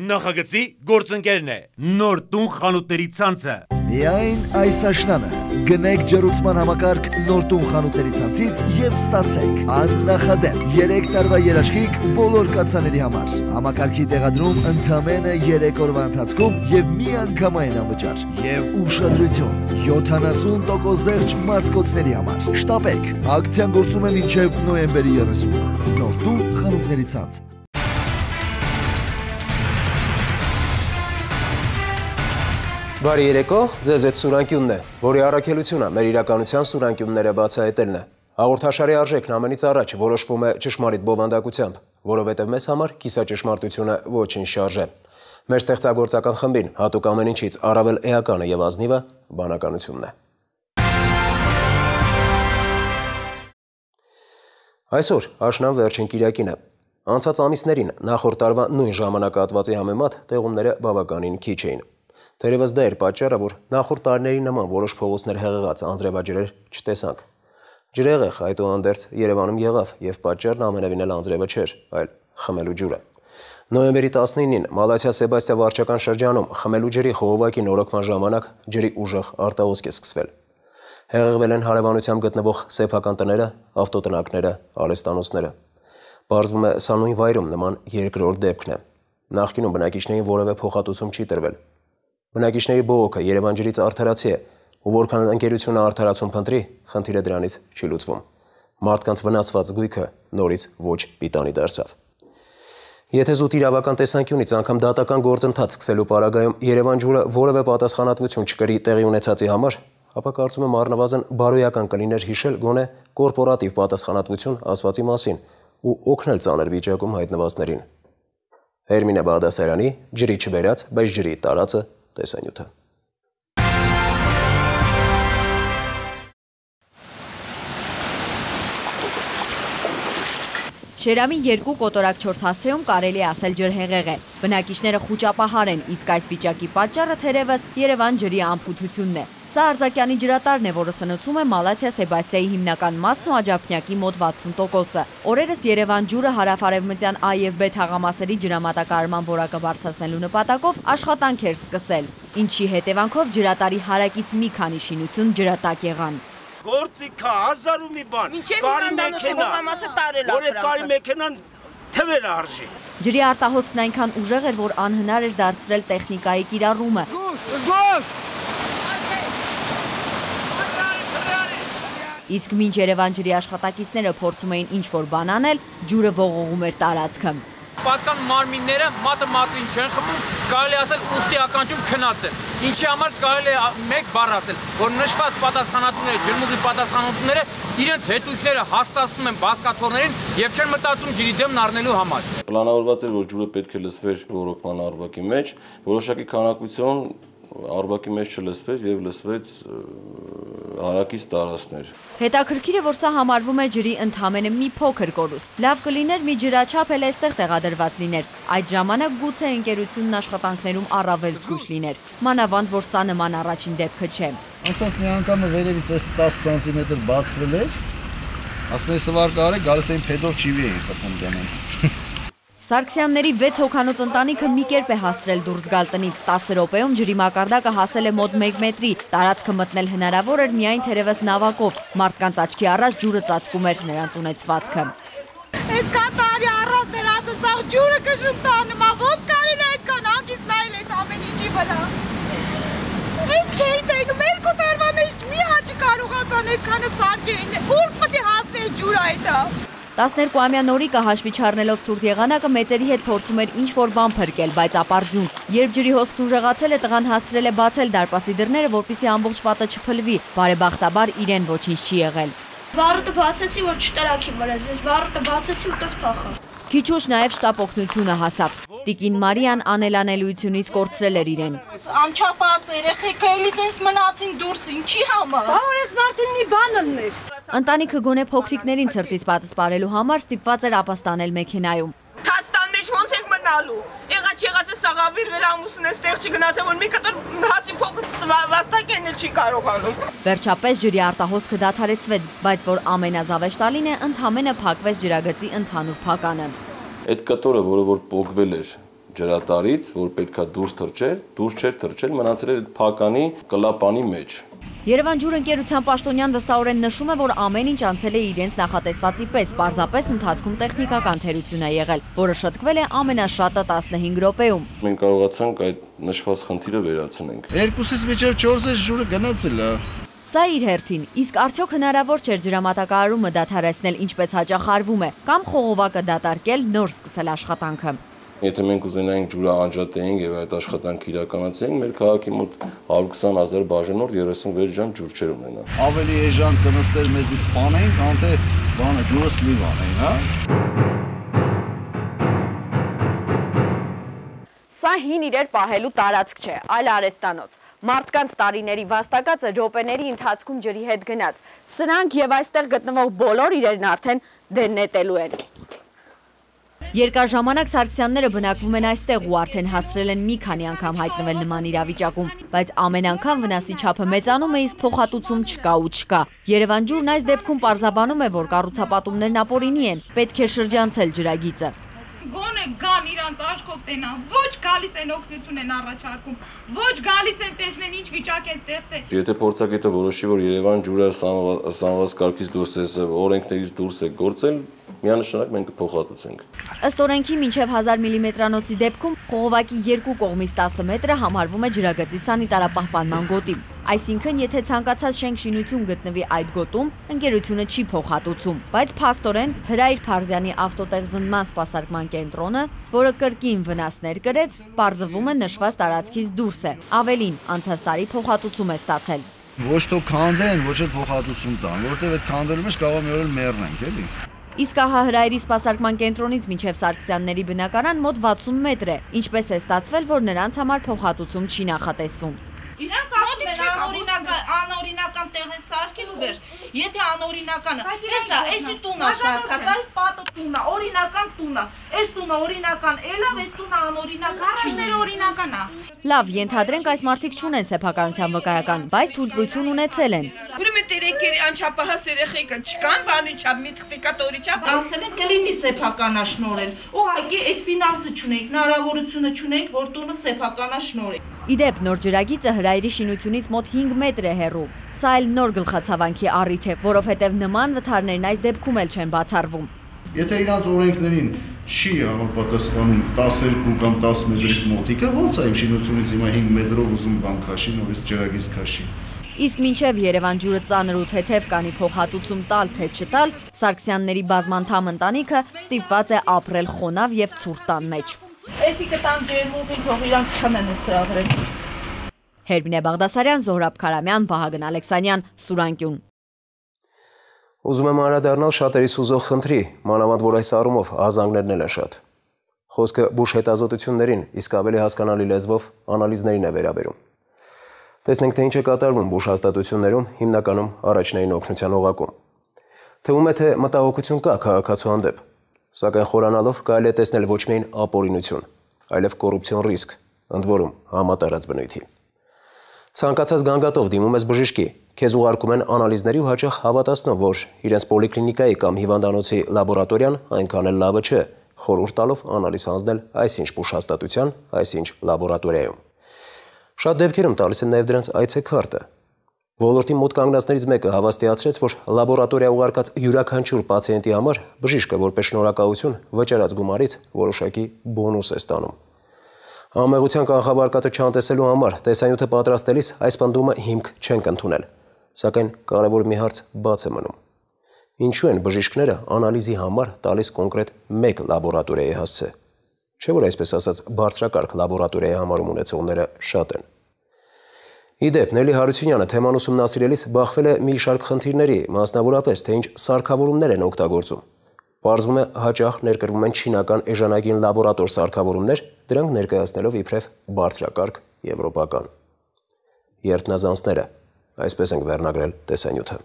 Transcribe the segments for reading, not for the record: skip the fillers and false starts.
նախագծի գործընկերն է։ Նոր տուն խանութների ցանցը։ Միայն այս աշնանը գնեք ջեռուցման համակարգ նոր տուն խանութների ցանցից եւ ստացեք աննախադեպ 3 տարվա երաշխիք բոլոր կացաների համար։ Համակարգի տեղադրում ընդամենը 3 օրվա ընթացքում եւ միանգամայն անվճար եւ ուշադրություն 70% զեղչ մարտկոցների համար։ Շտապեք, ակցիան գործում է մինչեւ նոյեմբերի 30-ը։ Նոր տուն խանութների ցանց։ Բարի երեկո, ձեզ այդ սուրանկյունն է, որի առաքելությունը մեր իրականության սուրանկյունները բացահայտելն է։ Հաղորդաշարի արժեքն ամենից առաջ որոշվում է ճշմարիտ բովանդակությամբ, որովհետև մեզ համար կիսաճշմարտությունը ոչինչ շարժ է։ Մեր ստեղծագործական խմբին հատուկ ամեն ինչից առավել էականը եւ ազնիվը բանականությունն է։ Այսօր աշնան վերջին կիրակին է։ Անցած ամիսներին նախորդ տարվա նույն ժամանակահատվածի համեմատ տեղումները բավականին քիչ էին։ Թերևս դա էր պատճառը, որ նախորդ տարիների նման որոշ փողոցներ հեղեղած անձրևաջրեր չտեսանք։ Ջրհեղեղ այդուհանդերձ Երևանում եղավ եւ պատճառն ամենևին էլ անձրևը չէր, այլ խմելու ջուրը։ Նոյեմբերի 19-ին Մալաթիա-Սեբաստիա վարչական շրջանում խմելու ջրի խողովակի նորոգման ժամանակ ջրի ուժեղ արտահոսք է սկսվել։ Հեղեղվել են հարևանությամբ գտնվող սեփական տները, ավտոտնակները, արհեստանոցները։ Պարզվում է, սա նույն վայրում նման երկրորդ դեպքն է։ Նախկինում բնակիչներին որևէ փոխհատուցում չի տրվել։ Բնակիչների բողոքը Երևան ջրից արդարացի է, ու որքան ընկերությունը արդարացում փնտրի, խնդիրը դրանից չի լուծվում։ Մարդկանց վնասված գույքը նորից ոչ պիտանի դարձավ։ Եթե զուտ իրավական տեսանկյունից անգամ դատական գործընթաց սկսելու պարագայում Երևան ջուրը որևէ պատասխանատվություն չկրի տեղի ունեցածի համար, ապա կարծում եմ առնվազն բարոյական կլիներ հիշել գոնե կորպորատիվ պատասխանատվություն ասվածի մասին ու օգնել ծանր վիճակում հայտնվածներին։ Հերմինե Բաղդասարյանի ջրի չբերած, բայց ջրի տարածը տեսանյութը։ Շերամի 2 կոտորակ 4 հասցեում կարելի է ասել ջրհեղեղ է։ Բնակիչները խուճապահար են, իսկ այս վիճակի պատճառը թերևս Երևան ջրի անփութությունն է։ Սա Արձակյանի ջրատարն է, որը սնուցում է Մալաթիա-Սեբաստիայի հիմնական մասն ու աջափնյակի մոտ 60%-ը։ Օրերս Երևան ջուրը հարավ-արևմտյան A և B թաղամասերի ջրամատակարարման որակը բարձրացնելու նպատակով աշխատանք էր սկսել, ինչի հետևանքով ջրատարի հարակից մի քանի շինություն ջրատակ եղան։ Գործիքա, հազար ու մի բան, կարի մեքենա, որ այդ կարի մեքենան թվեր արժի։ Ջրի արտահոսքն այնքան ուժեղ էր, որ անհնար էր դարձրել տեխնիկայի կիրառումը։ Իսկ մինչ Երևան ջրի աշխատակիցները փորձում էին ինչ-որ բան անել, ջուրը ողողում էր տարածքը։ Պատկան մարմինները մատը մատին չեն խմում, կարելի ասել ուստի ականջում քնած են։ Ինչի համար կարելի է մեկ բառ ասել, որ նշված պատասխանատուները, ջրմուղի պատասխանատուները իրենց հետույքները հաստատում են բազկաթոռներին եւ չեն մտածում ջրի դեմն առնելու համար։ Պլանավորված էր, որ ջուրը պետք է լցվեր ռոռոկման արվակի մեջ, որոշակի քանակություն արվակի մեջ չլցվեց եւ լցվեց հարակից տարածքներ։ Հետաքրքիր է, որ սա համարվում է ջրի ընդամենը մի փոքր կորուստ։ Լավ կլիներ մի ջրաչափ էլ այստեղ տեղադրված լիներ։ Այդ ժամանակ գուցե ընկերությունն աշխատանքներում առավել զգույշ լիներ։ Մանավանդ, որ սա նման առաջին դեպքը չէ։ Անցած մի անգամը վերևից այս 10 սանտիմետր բացվել էր։ Ասում եմ սվար կարե գալիս էին փեդով չիվի էին խփում դեմեն։ Սարգսյանների 6 հոգանոց ընտանիքը մի կերպ է հասցրել դուրս գալ տնից 10 րոպեում ջրի մակարդակը հասել է մոտ 1 մետրի, տարածքը մտնել հնարավոր էր միայն թերևս նավակով, մարդկանց աչքի առաջ ջուրը ծածկում էր նրանց ունեցվածքը։ Այսքան տարի առանց նրանց սաղ ջուրը կշում տանում, ոնց կարելի է այդքան հագիստ նայել այդ ամեն ինչի վրա։ Ես չէի տենում, 2 տարվա մեջ մի հաճ կարողացան այդքանը սարքեին, ուր պետք է հասնի ջուրը այդա։ 12-ամյա Նորիկը հաշվի չառնելով ցուրտ եղանակը մեծերի հետ փորձում էր ինչ-որ բան փրկել, բայց ապարդյուն։ Երբ ջրի հոսքն ուժեղացել է, տղան հասցրել է բացել դարպասի դռները, որպեսզի ամբողջ պատը չփլվի։ Բարեբախտաբար իրեն ոչինչ չի եղել։ Բարուտը բացեցի, որ չտրակի վրաս, ես բարուտը բացեցի ու տես փախա։ Քիչ ուշ նաև շտապ օգնությունը հասավ։ Տիկին Մարիան անելանելիությունից կորցրել էր իրեն։ Անչափահաս երեխեքը էլի sense մնացին դուրս, ինչի համար։ Որ ես մարդին մի բան ըլներ։ Ընտանիքը գոնե փոքրիկներին ցրտից պատասպարելու համար ստիպված էր ապաստանել մեքենայում։ Թաստան մեջ ոնց եք մնալու։ Եղած սաղավիրվել ամուսնն էստեղ չգնացել, որ մի կտոր հացի փոքր վաստակեն էլ չի կարողանում։ Վերջապես ջրի արտահոսքը դադարեցվեց, բայց որ ամենազավեշտալին է, ընդհանրապես փակվեց ջրագծի ընդհանուր փականը։ Այդ կտորը, որը որ պոկվել էր, ջրատարից, որ պետքա դուրս չէր թռչել, մնացել էր փականի կլապանի մեջ։ Երևան ջուր ընկերության պաշտոնյան վստահորեն նշում է, որ ամեն ինչ անցել է իրենց նախատեսվածի պես, պարզապես ընթացքում տեխնիկական թերություն է եղել, որը շտկվել է ամենաշատը 15 րոպեում։ Մենք կարողացանք այդ նշված խնդիրը վերացնենք։ 2-ից մինչև 4 ջուրը գնացել է։ Սա իր հերթին, իսկ արդյոք հնարավոր չէր ջրամատակարարումը դադարեցնել ինչպես հաճախ արվում է, կամ խողովակը դատարկել, նոր սկսել աշխատանքը։ Եթե մենք ուզենայինք ջուրը անջատեինք եւ այդ աշխատանքը իրականացնենք, մեր քաղաքի մոտ 120,000 բաժանորդ 36 ժամ ջուր չէր ունենա։ Ավելի էժան կնստեր մեզի սպանեին, քան թե բանը ջուրը սլիվ անեին, հա։ Սա հին իրեր պահելու տարածք չէ, այլ արհեստանոց։ Մարդկանց տարիների վաստակածը րոպեների ընթացքում ջրի հետ գնաց։ Սրանք եւ այստեղ գտնվող բոլոր իրերն արդեն դեննետելու են։ Երկար ժամանակ Սարգսյանները բնակվում են այստեղ ու արդեն հասցրել են մի քանի անգամ հայտնվել նման իրավիճակում, բայց ամեն անգամ վնասի չափը մեծանում է, իսկ փոխհատուցում չկա ու չկա։ Երևան ջուրն այս դեպքում պարզաբանում է, որ կառուցապատումներն ապօրինի են, պետք է շրջանցել ջրագիծը։ Գոնե գան իրանց աշխով տենան, ոչ գալիս են օգնություն են առաջարկում, ոչ գալիս են տեսնեն ինչ վիճակ է ստեղծել։ Եթե փորձագետը որոշի, որ Երևան ջուրը սանված կարգից դուրս է, օրենքներից դուրս է գործել, միանշանակ մենք կփոխհատուցենք։ Ըստ օրենքի մինչև 1000 մմ-ի դեպքում խողովակի երկու կողմից 10 մետրը համարվում է ջրագծի սանիտարապահպանման գոտի։ Այսինքն, եթե ցանկացած շենք-շինություն գտնվի այդ գոտում, ընկերությունը չի փոխհատուցում, բայց փաստորեն Հրայր Փարզյանի ավտոտեղզնման սպասարկման կենտրոնը, որը կրկին վնասներ կրեց, պարզվում է նշված տարածքից դուրս է։ Ավելին, անցած տարի փոխհատուցում է ստացել։ Ոչ թող քանդեն, ոչ էլ փոխհատուցում տան, որտեղ այդ քանդելու մեջ կարող մի օր մեռնենք, էլի։ Իսկ ահա Հրայրի սպասարկման կենտրոնից մինչև Սարգսյանների բնակարան մոտ 60 մետր է, ինչպես է ստացվել, որ նրանց համար փոխհատուցում չի նախատեսվում։ Իրանք ասում են անօրինական տեղ է սարքել ու վերջ։ Եթե անօրինականը, տեսա, էսի տունա շարքած, այս պատը տունա, օրինական տունա, այս տունը օրինական, էլավ այս տունը անօրինական, Գարաժները օրինական է։ Լավ, ենթադրենք այս մարդիկ չունեն սեփականության վկայական, բայց թույլտվություն ունեցել են։ Ուրեմն տերեկերի անչափահաս երեխեքը չկան, բանի չափ, մի թղթիկատորի չափ, ասել են կլինի սեփականաշնորհել։ Ուղղակի այդ ֆինանսը չունենք, հնարավորությունը չունենք, որ տունը սեփականաշնորհել։ Իդեպ նոր ջրագիծը Հրայրի շինությունից մոտ 5 մետր է հեռու։ Սա էլ նոր գլխացավանքի առիթ է, որովհետև նման վթարներն այս դեպքում էլ չեն բացառվում։ Եթե իրանց օրենքներին չի համապատասխանում 12 կամ 10 մետրից մոտիկը, ո՞նց է իմ շինությունից հիմա 5 մետրով ուզում բան քաշի, նորից ջրագիծ քաշի։ Իսկ մինչև Երևան ջուրը ծանր ու թեթև կանի փոխհատուցում տալ թե չտալ, Սարգսյանների բազմանդամ ընտանիքը ստիպված է ապրել խոնավ եւ ցուրտ տան մեջ։ Էսի կտան ջերմուղին, թող իրանք քնեն սրագրեն։ Հերմինե Բաղդասարյան, Զոհրաբ Քարամյան, Վահագն Ալեքսանյան, Սուրանկյուն։ Ուզում եմ անդրադառնալ շատերիս հուզող խնդրի, մանավանդ որ այս առումով ազանգներն են շատ։ Խոսքը բուժ հետազոտություններին, իսկ ավելի հասկանալի լեզվով անալիզներին է վերաբերում։ Տեսնենք, թե ինչ է կատարվում բուժ հաստատություններում, հիմնականում առաջնային օգնության օղակում։ Թվում է, թե մտահոգություն կա քաղաքացու հանդեպ, սակայն խորանալով կարելի է տեսնել ոչ միայն ապօրինություն, այլև կոռուպցիոն ռիսկ, ընդ որում համատարած բնույթի։ Ցանկացած գանգատով դիմում ես բժշկի, քեզ ուղարկում են անալիզների ու հաճախ հավատացնող, որ իրենց պոլիկլինիկայի կամ հիվանդանոցի լաբորատորիան այնքան էլ լավը չէ, խորհուրդ տալով անալիզ հանձնել այսինչ բուժ հաստատության, այսինչ լաբորատորիայում։ Շատ դեպքերում տալիս են նաև դրանց այցեքարտը։ Ոլորտի մոտ կանգնածներից մեկը հավաստիացրեց, որ լաբորատորիա ուղարկած յուրաքանչյուր պացիենտի համար բժիշկը որպես շնորհակալություն վճարած գումարից որոշակի բոնուս է ստանում։ Համեղության կանխավարկածը չանտեսելու համար տեսանյութը պատրաստելիս այս պնդումը հիմք չենք ընդունել, սակայն կարևոր մի հարց բաց է մնում։ Ինչու են բժիշկները անալիզի համար տալիս կոնկրետ մեկ լաբորատորիայի հասցե։ Չէ՞ որ այսպես ասած բարձրակարգ լաբորատորիայի համարում ունեցողները շատ են։ Իդեպ, Նելի Հարությունյանը թեման ուսումնասիրելիս բախվել է մի շարք խնդիրների, մասնավորապես, թե ինչ սարքավորումներ են օգտագործում։ Պարզվում է, հաճախ ներկրվում են չինական էժանագին լաբորատոր սարքավորումներ, դրանք ներկայացնելով իբրև բարձրակարգ եվրոպական։ Երթնազանցները, այսպես ենք վերնագրել տեսանյութը։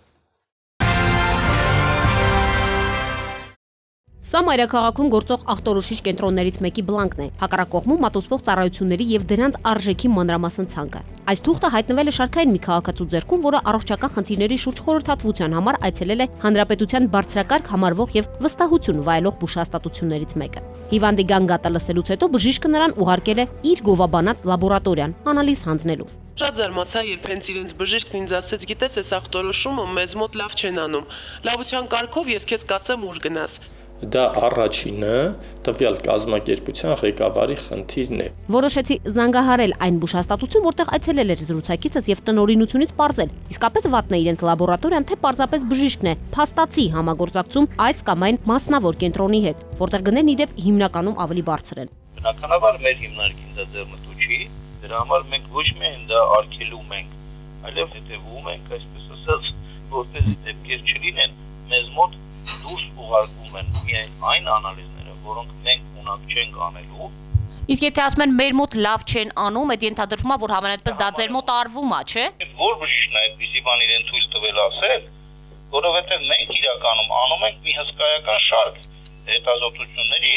Սա մայրաքաղաքում գործող ախտորոշիչ կենտրոններից մեկի բլանկն է, հակառակողմում մատուցվող ծառայությունների եւ դրանց արժեքի մանրամասն ցանկը։ Այս թուղթը հայտնվել է շարքային մի քաղաքացու ձեռքում, որը առողջական խնդիրների շուրջ խորհրդատվության համար այցելել է Հանրապետության բարձրակարգ համարվող եւ վստահություն վայելող բուժհաստատություններից մեկը։ Հիվանդի գանգատը լսելուց հետո բժիշկը նրան ուղարկել է իր գովաբանած լաբորատորիան անալիզ հանձնելու։ Շատ զարմացա, երբ հենց իրենց բժիշկն ինձ ասեց, գիտես, այս ախտորոշումը մեզ մոտ լավ չեն անում։ Լավության կարգով ես քեզ կասեմ ուր գնաս։ Դա առաջինը տվյալ կազմակերպության ղեկավարի խնդիրն է։ Որոշեցի զանգահարել այն բուժհաստատություն, որտեղ այցելել էր զրուցակիցս եւ տնօրինությունից պարզել, իսկապես վատն է իրենց լաբորատորիան, թե պարզապես բժիշկն է, փաստացի համագործակցում այս կամ այն մասնավոր կենտրոնի հետ, որտեղ գներն իդեպ հիմնականում ավելի բարձր են։ Բնականաբար մեր հիմնարկին դա ձեռնտու չի, դրա համար մենք ոչ միայն դա արգելում ենք, այլև հետևում ենք, այսպես ասած, որպես դեպքեր չլինեն, մեզ մոտ դուրս ուղարկում են միայն այն անալիզները, որոնք մենք ունակ չենք անելու։ Իսկ եթե ասում են մեր մոտ լավ չեն անում, այդ ենթադրվում է, որ համենայնպես դա ձեր մոտ արվում է, չէ՞։ Որ բժիշկն է այդպիսի բան իրեն թույլ տվել ասել, որովհետև մենք իրականում անում ենք մի հսկայական շարք հետազոտությունների,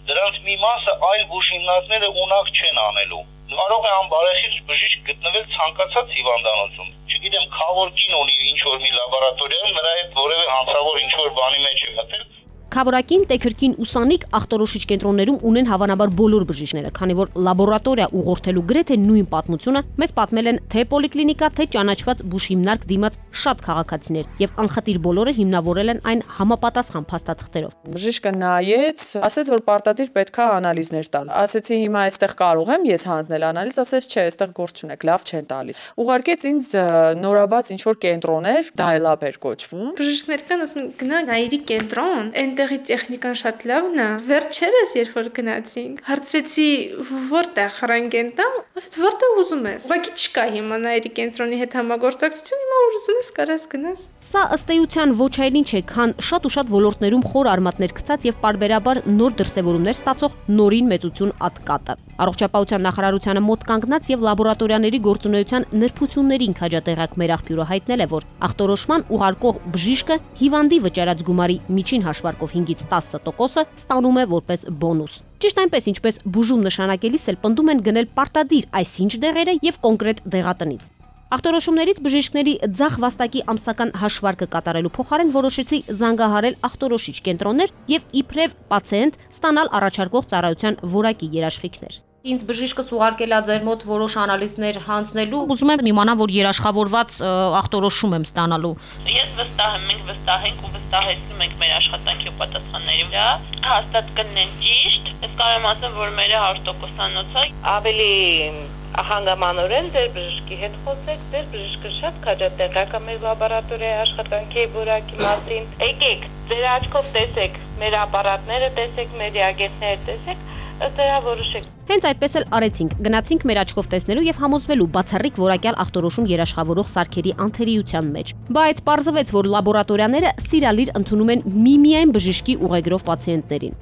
դրանց մի մասը այլ բուժհիմնարկները ունակ չեն անելու։ Կարող է անբարեխիղճ բժիշկ գտնվել ցանկացած հիվանդանոցում։ Չգիտեմ, քավոր կին ունի ինչ-որ մի լաբորատորիայում, նրա հետ որևէ հանցավոր ինչ-որ բանի մեջ է մտել։ Քավորակին, տեքրքին, ուսանիկ ախտորոշիչ կենտրոններում ունեն հավանաբար բոլոր բժիշկները, քանի որ լաբորատորիա ուղղորդելու գրեթե նույն պատմությունը մեզ պատմել են թե պոլիկլինիկա, թե ճանաչված բուժհիմնարկ դիմաց շատ քաղաքացիներ, եւ անխտիր բոլորը հիմնավորել են այն համապատասխան փաստաթղթերով։ Բժիշկը նայեց, ասեց, որ պարտադիր պետքա անալիզներ տալ։ Ասեցի, հիմա այստեղ կարող եմ ես հանձնել անալիզ, ասեց, չէ, այստեղ գործ չունեք, լավ չեն տալիս։ Ուղարկեց ինձ նորաբաց ինչ-որ կենտրոներ, Dial-up էր կոչվում։ Բժիշկներ կան ասում են, գնա նայիրի կենտրոն, այնտեղի տեխնիկան շատ լավն է։ Վերջերս երբ որ գնացինք, հարցրեցի որտեղ ռենտգեն տամ, ասաց որտեղ ուզում ես։ Ուղղակի չկա հիմա նայիրի կենտրոնի հետ համագործակցություն, հիմա որ ուզում ես կարաս գնաս։ Սա ըստ էության ոչ այլ ինչ է, քան շատ ու շատ ոլորտներում խոր արմատներ գցած եւ պարբերաբար նոր դրսեւորումներ ստացող նորին մեծություն ատկատը։ Առողջապահության նախարարությանը մոտ կանգնած եւ լաբորատորիաների գործունեության նրբություններին քաջատեղակ մեր աղբյուրը հայտնել է, որ ախտորոշման ուղարկող բժիշկը հիվանդի վճարած գումարի միջին հաշվարկով 5-ից 10% ստանում է որպես բոնուս։ Ճիշտ այնպես, ինչպես բուժում նշանակելիս էլ պնդում են գնել պարտադիր այսինչ դեղերը եւ կոնկրետ դեղատնից։ Ախտորոշումներից բժիշկների ձախ վաստակի ամսական հաշվարկը կատարելու փոխարեն որոշեցի զանգահարել ախտորոշիչ կենտրոններ եւ իբրև պացիենտ ստանալ առաջարկող ծառայության որակի երաշխիքներ։ Ինձ բժիշկս ուղարկել է ձեր մոտ որոշ անալիզներ հանձնելու, ուզում եմ իմանալ, որ երաշխավորված ախտորոշում եմ ստանալու։ Ես վստահ եմ, մենք վստահ ենք ու վստահեցնում ենք մեր աշխատանքի ու պատասխանների վրա, հաստատ կնեն ճիշտ, ես կարող եմ ասեմ, որ մեր 100%-անոց է, ավելի հանգամանորեն ձեր բժշկի հետ խոսեք, ձեր բժիշկը շատ քաջատեղակ է մեր լաբորատորիայի աշխատանքի որակի մասին։ Եկեք, ձեր աչքով տեսեք մեր ապարատները, տեսեք մեր ռեագենտները, տեսեք, դրա որոշեք։ Հենց այդպես էլ արեցինք, գնացինք մեր աչքով տեսնելու եւ համոզվելու բացառիկ որակյալ ախտորոշում երաշխավորող սարքերի անթերիության մեջ։ Բայց պարզվեց, որ լաբորատորիաները սիրալիր ընդունում են միմիայն բժշկի ուղեգրով պացիենտներին։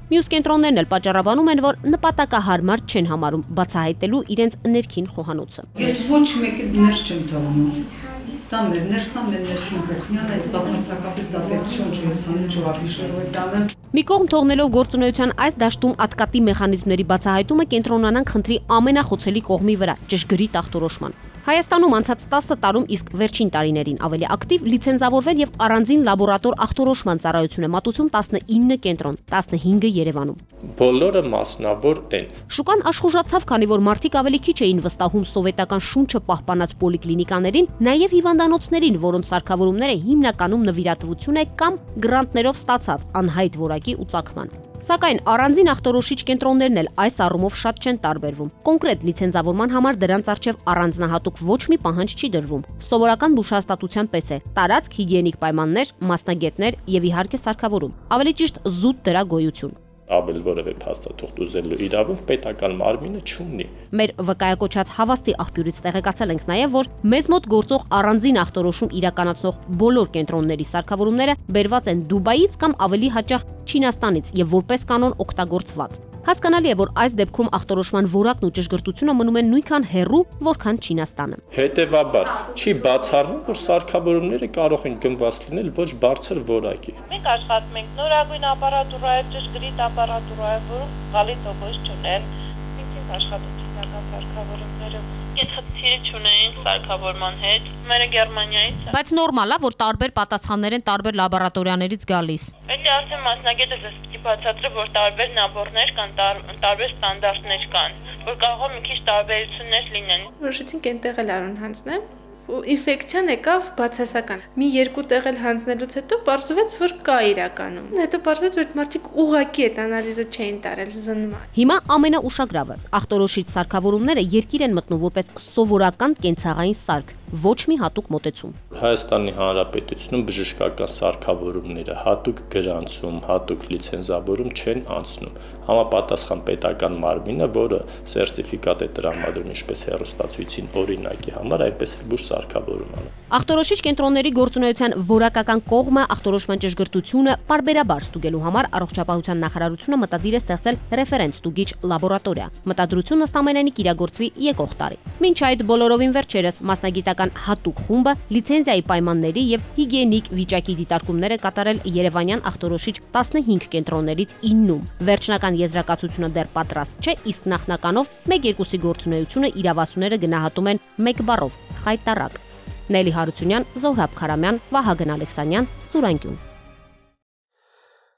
Մյուս կենտրոններն էլ պատճառաբանում են, որ նպատակահարմար չեն համարում բացահայտելու իրենց ներքին խոհանոցը։ Ես ոչ մեկի ներս չեմ թողնում։ Դա մեր ներսն է, ներքին կողմյան է, բացարձակապես դա պետք չէ, ես հանուն չվարվիշերով տանը։ Մի կողմ թողնելով գործունեության այս դաշտում ատկատի մեխանիզմների բացահայտումը կենտրոնանան խնդրի ամենախոցելի կողմի վրա՝ ճշգրիտ ախտորոշման։ Հայաստանում անցած 10 տարում, իսկ վերջին տարիներին ավելի ակտիվ լիցենզավորվել եւ առանձին լաբորատոր ախտորոշման ծառայություն է մատուցում 19 կենտրոն, 15-ը Երևանում։ Բոլորը մասնավոր են։ Շուկան աշխուժացավ, քանի որ մարդիկ ավելի քիչ էին վստահում սովետական շունչը պահպանած պոլիկլինիկաներին, նաեւ հիվանդանոցներին, որոնց սարքավորումները հիմնականում նվիրատվություն է կամ գրանտներով ստացած անհայտ որակի ու ծագման։ Սակայն առանձին ախտորոշիչ կենտրոններն էլ այս առումով շատ չեն տարբերվում։ Կոնկրետ լիցենզավորման համար դրանց առջև առանձնահատուկ ոչ մի պահանջ չի դրվում։ Սովորական բուժհաստատության պես է՝ տարածք, հիգիենիկ պայմաններ, մասնագետներ եւ իհարկե սարքավորում։ Ավելի ճիշտ զուտ դրա գոյություն։ Ավել որևէ փաստաթուղթ ուզելու իրավունք պետական մարմինը չունի։ Մեր վկայակոչած հավաստի աղբյուրից տեղեկացել ենք նաև, որ մեզ մոտ գործող առանձին ախտորոշում իրականացնող բոլոր կենտրոնների սարքավորումները բերված են Դուբայից կամ ավելի հաճախ Չինաստանից եւ որպես կանոն օգտագործված։ Հասկանալի է, որ այս դեպքում ախտորոշման որակն ու ճշգրտությունը մնում են նույնքան հեռու, որքան Չինաստանը։ Հետևաբար, չի բացառվում, որ սարքավորումները կարող են գնված լինել ոչ բարձր որակի։ Մենք աշխատում ենք նորագույն ապարատուրայով, ճշգրիտ ապարատուրայով, որոնք գալի տոկոս չունեն։ Մենք ենք աշխատում տեխնիկական սարքավորումներով։ Այդ խնդիրը չունենք սարքավորման հետ, մերը Գերմանիայից է։ Բայց նորմալ է, որ տարբեր պատասխաններ են տարբեր լաբորատորիաներից գալիս։ Էլի արդեն մասնագետը ձեզ պիտի բացատրի, որ տարբեր նաբորներ կան, տարբեր ստանդարտներ կան, որ կարող է մի քիչ տարբերություններ լինեն։ Որոշեցինք այնտեղ էլ արուն հանձնել։ Ինֆեկցիան եկավ բացասական։ Մի երկու տեղ էլ հանձնելուց հետո պարզվեց, որ կա իրականում։ Հետո պարզվեց, որ մարդիկ ուղղակի այդ անալիզը չէին տարել զննման։ Հիմա ամենաուշագրավը՝ ախտորոշիչ սարքավորումները երկիր են մտնում որպես սովորական կենցաղային սարք, ոչ մի հատուկ մոտեցում։ Հայաստանի Հանրապետությունում բժշկական սարքավորումները հատուկ գրանցում, հատուկ լիցենզավորում չեն անցնում։ Համապատասխան պետական մարմինը, որը սերտիֆիկատ է տրամադրում ինչպես հեռուստացույցին օրինակի համար, այնպես էլ բուժ սարքավորում անում։ Ախտորոշիչ կենտրոնների գործունեության որակական կողմը ախտորոշման ճշգրտությունը պարբերաբար ստուգելու համար առողջապահության նախարարությունը մտադիր է ստեղծել ռեֆերենս ստուգիչ լաբորատորիա։ Մտադրությունը ըստ ամենայնի կիրագործվի եկող տարի։ Մինչ այդ բոլորովին վերջերս մասնագիտական հատուկ խումբը լիցենզիայի պայմանների եւ հիգիենիկ վիճակի դիտարկումներ է կատարել Երևանյան ախտորոշիչ 15 կենտրոններից 9-ում։ Վերջնական եզրակացությունը դեռ պատրաստ չէ, իսկ նախնականով 1-2-ի գործունեությունը իրավասուները գնահատում են 1 բառով՝ խայտառակ։ Նելի Հարությունյան, Զոհրաբ Քարամյան, Վահագն Ալեքսանյան, Սուրանկյուն։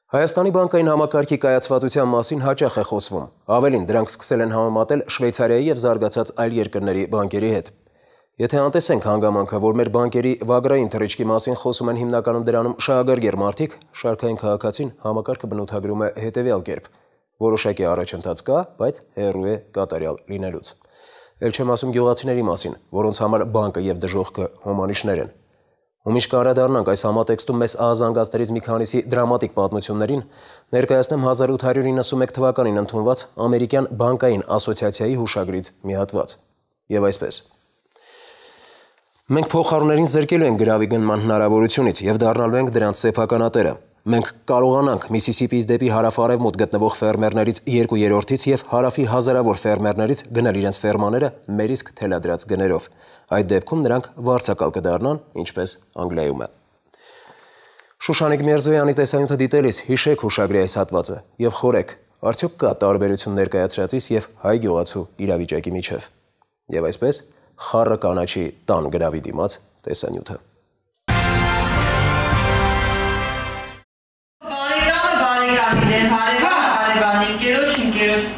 Հայաստանի բանկային համակարգի կայացվածության մասին հաճախ է խոսվում։ Ավելին, դրանք սկսել են համեմատել Շվեյցարիայի եւ զարգացած այլ երկրների բանկերի հետ։ Եթե անտեսենք հանգամանքը, որ մեր բանկերի վագրային թռիչքի մասին խոսում են հիմնականում դրանում շահագրգիռ մարդիկ, շարքային քաղաքացին համակարգը բնութագրում է հետևյալ կերպ. որոշակի առաջընթաց կա, բայց հեռու է կատարյալ լինելուց։ Էլ չեմ ասում գյուղացիների մասին, որոնց համար բանկը եւ դժոխքը հոմանիշներ են։ Ու միշտ կանդրադառնանք այս համատեքստում մեզ ահազանգածներից մի քանիսի դրամատիկ պատմություններին, ներկայացնեմ 1891 թվականին ընդունված ամերիկյան բանկային ասոցիացիայի հուշագրից մի հատված։ Եվ այսպես. Մենք փոխարուներին զրկելու ենք գրավի գնման հնարավորությունից եւ դառնալու ենք դրանց սեփականատերը։ Մենք կարողանանք Միսիսիպիից դեպի հարավ-արևմուտք գտնվող ֆերմերներից 2/3-ից եւ հարավի հազարավոր ֆերմերներից գնել իրենց ֆերմաները մեր իսկ թելադրած գներով։ Այդ դեպքում նրանք վարձակալ կդառնան, ինչպես Անգլիայում է։ Շուշանիկ Միրզոյանի տեսանյութը դիտելիս հիշեք հուշագրի այս հատվածը եւ խորեք, արդյոք կա տարբերություն ներկայացրածից եւ հայ գյուղացու իրավիճակի միջև։ Եվ այսպես խառը կանաչի տան գրավի դիմաց տեսանյութը։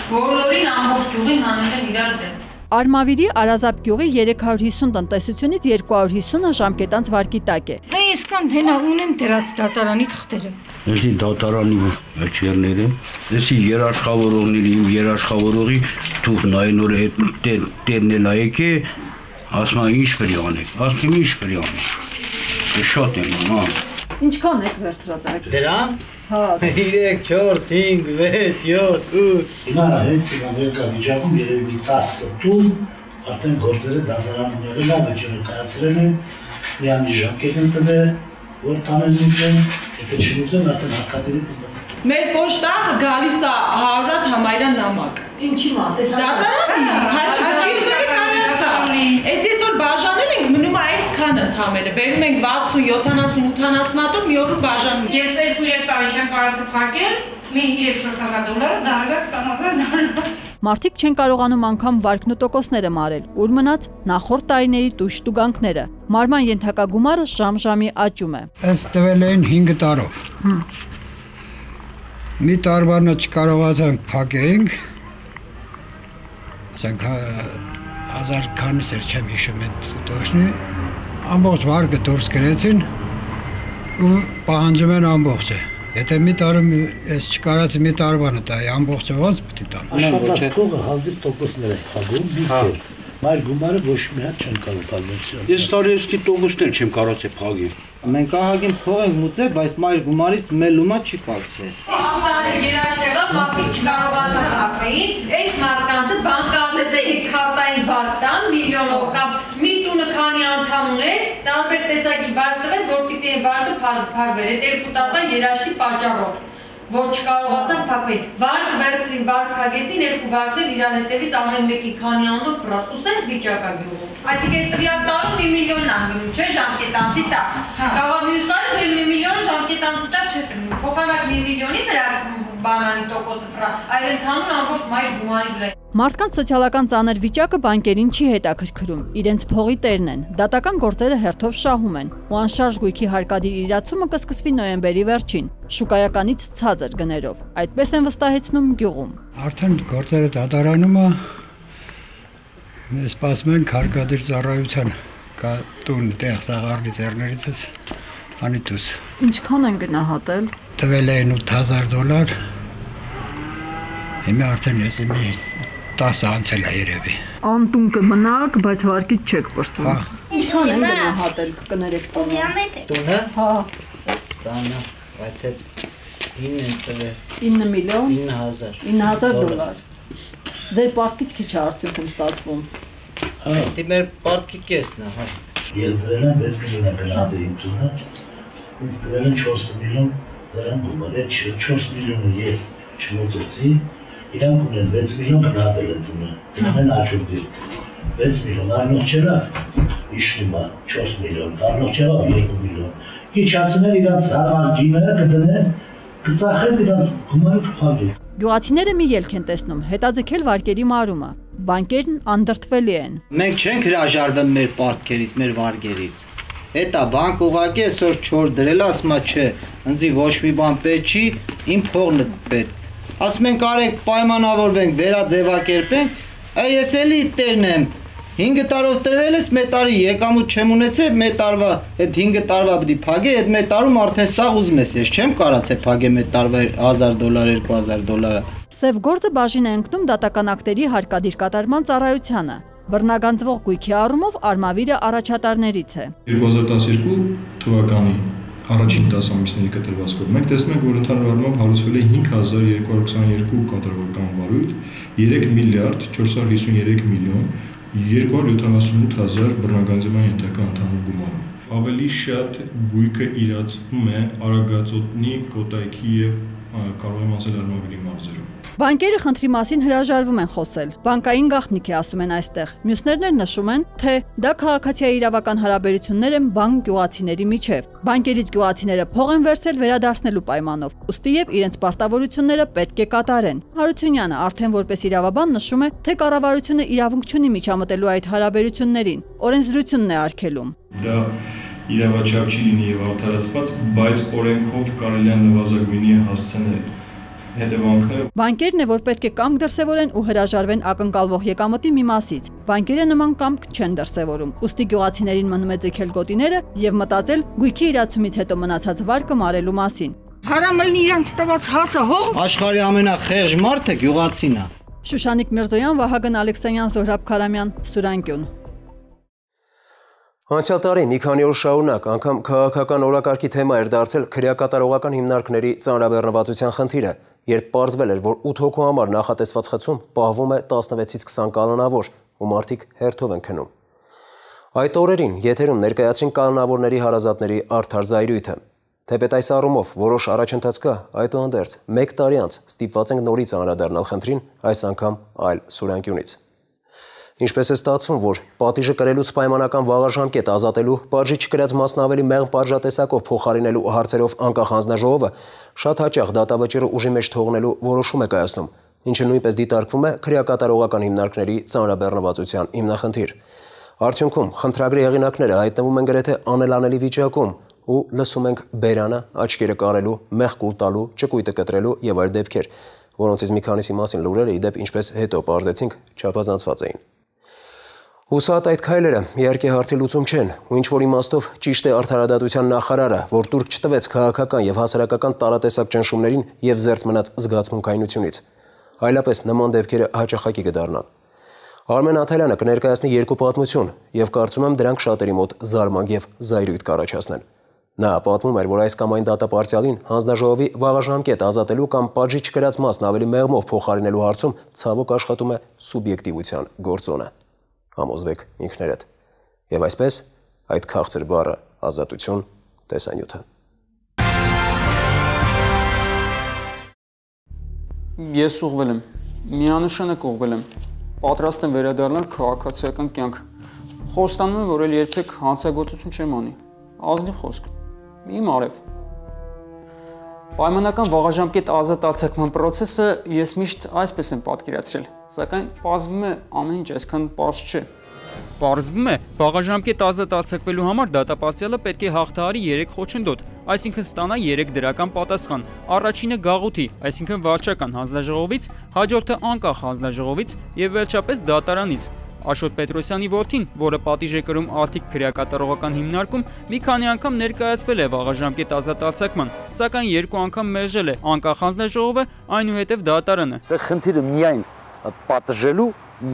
Բոլորին ամբողջ գյուղին հանել են իրար դեմ։ Արմավիրի Արազապ գյուղի 350 տնտեսությունից 250-ը ժամկետանց վարկի տակ է։ Այսքան հենա ունեմ դրած դատարանի թղթերը։ Էսի դատարանի աչերները, էսի երաշխավորողների, երաշխավորողի թուղթ նայնորը հետ տերն էլ եկե, ասում են ինչ պետք է անեք, ասում են ինչ պետք է անեք։ Շատ եմ, հա։ Ինչքան եք վերցրած այդ։ Դրամ։ Հա 3, 4, 5, 6, 7, 8։ Հիմա հենց ներկա վիճակում երևի մի 10 տուն արդեն գործերը դատարանները լավ վիճակը կայացրել են, միանի ժամկետ են տվել, որ տանեն, եթե չլուծեն արդեն հարկատերի դիմաց։ Մեր պոստը գալիս է 100 համայրան նամակ։ Ինչի մաս, այս դատարանի, հարկատիները կայացա։ Այս որ բաժանել ենք, մնում է այսքան ընդամենը։ Բերում ենք 60, 70, 80 հատով մի օրում բաժանում։ Ես 2-3 տարի չեմ կարողացել փակել, մի 3-4,000 դարվա 20,000 Մարդիկ չեն կարողանում անգամ վարկն ու տոկոսները մարել, ուր մնաց նախորդ տարիների տույժ տուգանքները։ Մարման ենթակա գումարը ժամ-ժամի աճում է։ Այս տվել են 5 տարով։ Մի տարվանը չկարողացանք փակենք, ասենք 1000 քանիս էր չեմ հիշում այդ տոշնի, ամբողջ վարկը դուրս գրեցին ու պահանջում են ամբողջը։ Եթե մի տարում ես չկարացի մի տարվանը տա, ամբողջը ոնց պետք է տամ։ Աշխատած փողը 1000% է խաղում, բիքեր։ Մայր գումարը ոչ մի հատ չեն կարող փակել։ Ես տարիեսկի տոկոսներ չեմ կարողացել փակել։ Մենք ահագին փող ենք մուծել, բայց մայր գումարից մելումա չի փակվել։ Ահտարի երաշտեղը մաքսի չկարողացան փակվեին, այս մարդկանցը բանկալեզերի քարտային վարկտան միլիոնով կամ մի տունը քանի անդամ ուներ, տարբեր տեսակի վարկ տվեց, որպեսզի այն վարկը փակվեր։ Այդ երկու տարվա երաշտի պատճառով։ որ չկարողացան փակվել։ Վարկ վերցրին, վարկ փակեցին, երկու վարկներ իրար հետևից ամեն մեկի քանի անով վրաց, ու սենց վիճակա գյուղում։ Այսինքն տվյալ տարում 1 միլիոնն անգնում, չէ, ժամկետանցի տակ։ Կարող մյուս տարի 1 միլիոն ժամկետանցի տակ չես ըմնում, փոխանակ 1 միլիոնի վրա բանանի տոկոսը վրա, այլ ընդհանուր ամբողջ մայր գումարի վրա։ Մարդկանց սոցիալական ծանր վիճակը բանկերին չի հետաքրքրում, իրենց փողի տերն են, դատական գործերը հերթով շահում են, ու անշարժ գույքի հարկադիր իրացումը կսկսվի նոյեմբերի վերջին, շուկայականից ցածր գներով, այդպես են վստահեցնում գյուղում։ Արդեն գործերը դատարանում է, սպասում ենք հարկադիր ծառայության տուն տեղ սաղարնի ձեռներիցս անիտուս։ Ինչքան են գնահատել։ Տվել են $8,000, հիմա արդեն ես մի 10 անցել է երևի։ Անտուն կմնաք, բայց վարկից չեք պրծվում։ Ինչքան են գնահատել կներեք տունը։ Տունը։ Հա։ Տանը, այդ 9 են տվել։ 9 միլիոն։ 9,000 Ձեր պարտքից քիչ է արդյունքում ստացվում։ Դա մեր պարտքի կեսն է, հա։ Ես դրել եմ 6 միլիոն գնահատեի տունը, ինձ դրել են 4 միլիոն դրան գումար, այդ 4 միլիոնը ես չմոծեցի, իրանք ունեն 6 միլիոն գնահատել են տունը, դրան աճուրդի, 6 միլիոն, առնող չերավ, իշնում է 4 միլիոն, առնող չերավ 2 միլիոն, քիչ անցնել իրանց հարմար ջիները կդնեն, կծախեն իրանց գումարը կփակեն։ Գյուղացիները մի ելք են տեսնում, հետաձգել վարկերի մարումը, բանկերն անդրդվելի են։ Մենք չենք հրաժարվել մեր պարտքերից, մեր վարկերից։ Հետա բանկ ուղղակի այսօր չոր դրել, ասում է չէ, ինձի ոչ մի բան պետք չի, իմ փողն է պետք։ Ասում ենք արեք պայմանավորվենք, վերաձևակերպենք, ես էլի տերն եմ, 5 տարով տրել ես, մեկ տարի եկամուտ չեմ ունեցել, մեկ տարվա այդ 5 տարվա պիտի փակե, այդ մեկ տարում արդեն սաղ ուզում ես, ես չեմ կարացել փակե մեկ տարվա $1,000, $2,000։ Սև գործը բաժին է ընկնում դատական ակտերի հարկադիր կատարման ծառայությանը։ Բռնագանձվող գույքի առումով Արմավիրը առաջատարներից է։ 2012 թվականի առաջին 10 ամիսների կտրվածքով մենք տեսնում ենք, որ ընդհանուր առմամբ հարուցվել է 5222 կատարողական վարույթ, 3 միլիարդ 453 միլիոն 278,000 բռնագանձման ենթակա ընդհանուր գումարով։ Ավելի շատ գույքը իրացվում է Արագածոտնի, Կոտայքի եւ կարող եմ ասել Արմավիրի մարզերում։ Բանկերը խնդրի մասին հրաժարվում են խոսել։ Բանկային գաղտնիք է, ասում են այստեղ։ Մյուսներն էլ նշում են, թե դա քաղաքացիայի իրավական հարաբերություններ են բանկ-գյուղացիների միջև։ Բանկերից գյուղացիները փող են վերցրել վերադարձնելու պայմանով, ուստի եւ իրենց պարտավորությունները պետք է կատարեն։ Հարությունյանը արդեն որպես իրավաբան նշում է, թե կառավարությունը իրավունք չունի միջամտելու այդ հարաբերություններին, օրենսդրությունն է արգելում։ Դա իրավաչափ չի լինի եւ արդարացված, բայց օրենքով կարելի է նվազագույնի հասցնել հետևանքները։ Բանկերն է, որ պետք է կամք դրսևորեն ու հրաժարվեն ակնկալվող եկամտի մի մասից։ Բանկերը նման կամք չեն դրսևորում, ուստի գյուղացիներին մնում է ձգել գոտիները եւ մտածել գույքի իրացումից հետո մնացած վարկը մարելու մասին։ Հարամելն իրանց տված հասը հող։ Աշխարհի ամենախեղճ մարդը գյուղացին է։ Շուշանիկ Միրզոյան, Վահագն Ալեքսանյան, Զոհրաբ Քարամյան, Սուրանկյուն։ Անցյալ տարի մի քանի օր շարունակ անգամ քաղաքական օրակարգի թեմա էր դարձել քրեակատարողական հիմնարկների ծանրաբեռնվածության խնդիրը, երբ պարզվել էր, որ 8 հոգու համար նախատեսված խցում պահվում է 16-ից 20 կանոնավոր, ու մարդիկ հերթով են քնում։ Այդ օրերին եթերում ներկայացրին կանոնավորների հարազատների արդար զայրույթը։ Թեպետ այս առումով որոշ առաջընթաց կա, այդուհանդերձ 1 տարի անց ստիպված ենք նորից անդրադառնալ խնդրին, այս անգամ այլ Սուրանկյունից։ Ինչպես է ստացվում, որ պատիժը կրելուց պայմանական վաղաժամկետ ազատելու, պատժի չկրած մասն ավելի մեղմ պատժատեսակով փոխարինելու հարցերով անկախ հանձնաժողովը շատ հաճախ դատավճիռը ուժի մեջ թողնելու որոշում է կայացնում, ինչը նույնպես դիտարկվում է քրեակատարողական հիմնարկների ծանրաբեռնվածության հիմնախնդիր։ Արդյունքում խնդրագրի հեղինակները հայտնվում են գրեթե անելանելի վիճակում ու լսում ենք բերանը, աչքերը կարելու, մեղք կուլ տալու, ճկույտը կտրելու եւ այլ դեպքեր, որոնցից մի քանիսի մասին լուրերը ի դեպ ինչպես հետո պարզեցինք չափազանցված էին։ Հուսահատ այդ քայլերը իհարկե հարցի լուծում չեն, ու ինչ-որ իմաստով ճիշտ է արդարադատության նախարարը, որ տուրք չտվեց քաղաքական եւ հասարակական տարատեսակ ճնշումներին եւ զերծ մնաց զգացմունքայնությունից։ Այլապես նման դեպքերը հաճախակի կդառնան։ Արմեն Աթալյանը կներկայացնի 2 պատմություն եւ կարծում եմ դրանք շատերի մոտ զարմանք եւ զայրույթ կառաջացնեն։ Նա պատմում էր, որ այս կամ այն դատապարտյալին հանձնաժողովի վաղաժամկետ ազատելու կամ պատժի չկրած մասն ավելի մեղմով փոխարինելու հարցում ցավոք աշխատում է սուբյեկտիվության գործոնը։ Համոզվեք ինքներդ։ Եվ այսպես այդ քաղցր բառը ազատություն տեսանյութը։ Ես ուղղվել եմ, միանշանակ ուղղվել եմ, պատրաստ եմ վերադառնալ քաղաքացիական կյանք, խոստանում եմ, որ էլ երբեք հանցագործություն չեմ անի, ազնիվ խոսք, իմ արև։ Պայմանական վաղաժամկետ ազատ արձակման պրոցեսը ես միշտ այսպես եմ պատկերացրել, սակայն պարզվում է ամեն ինչ այսքան պարզ չէ։ Պարզվում է, վաղաժամկետ ազատ արձակվելու համար դատապարտյալը պետք է հաղթահարի 3 խոչընդոտ, այսինքն ստանա 3 դրական պատասխան։ Առաջինը գաղութի, այսինքն վարչական հանձնաժողովից, հաջորդը անկախ հանձնաժողովից եւ վերջապես դատարանից։ Աշոտ Պետրոսյանի որդին, որը պատիժ է կրում Արտիկ քրեակատարողական հիմնարկում, մի քանի անգամ ներկայացվել է վաղաժամկետ ազատ արձակման, սակայն 2 անգամ մերժել է անկախ հանձնաժողովը, այնուհետև դատարանը։ Այստեղ խնդիրը միայն պատժելու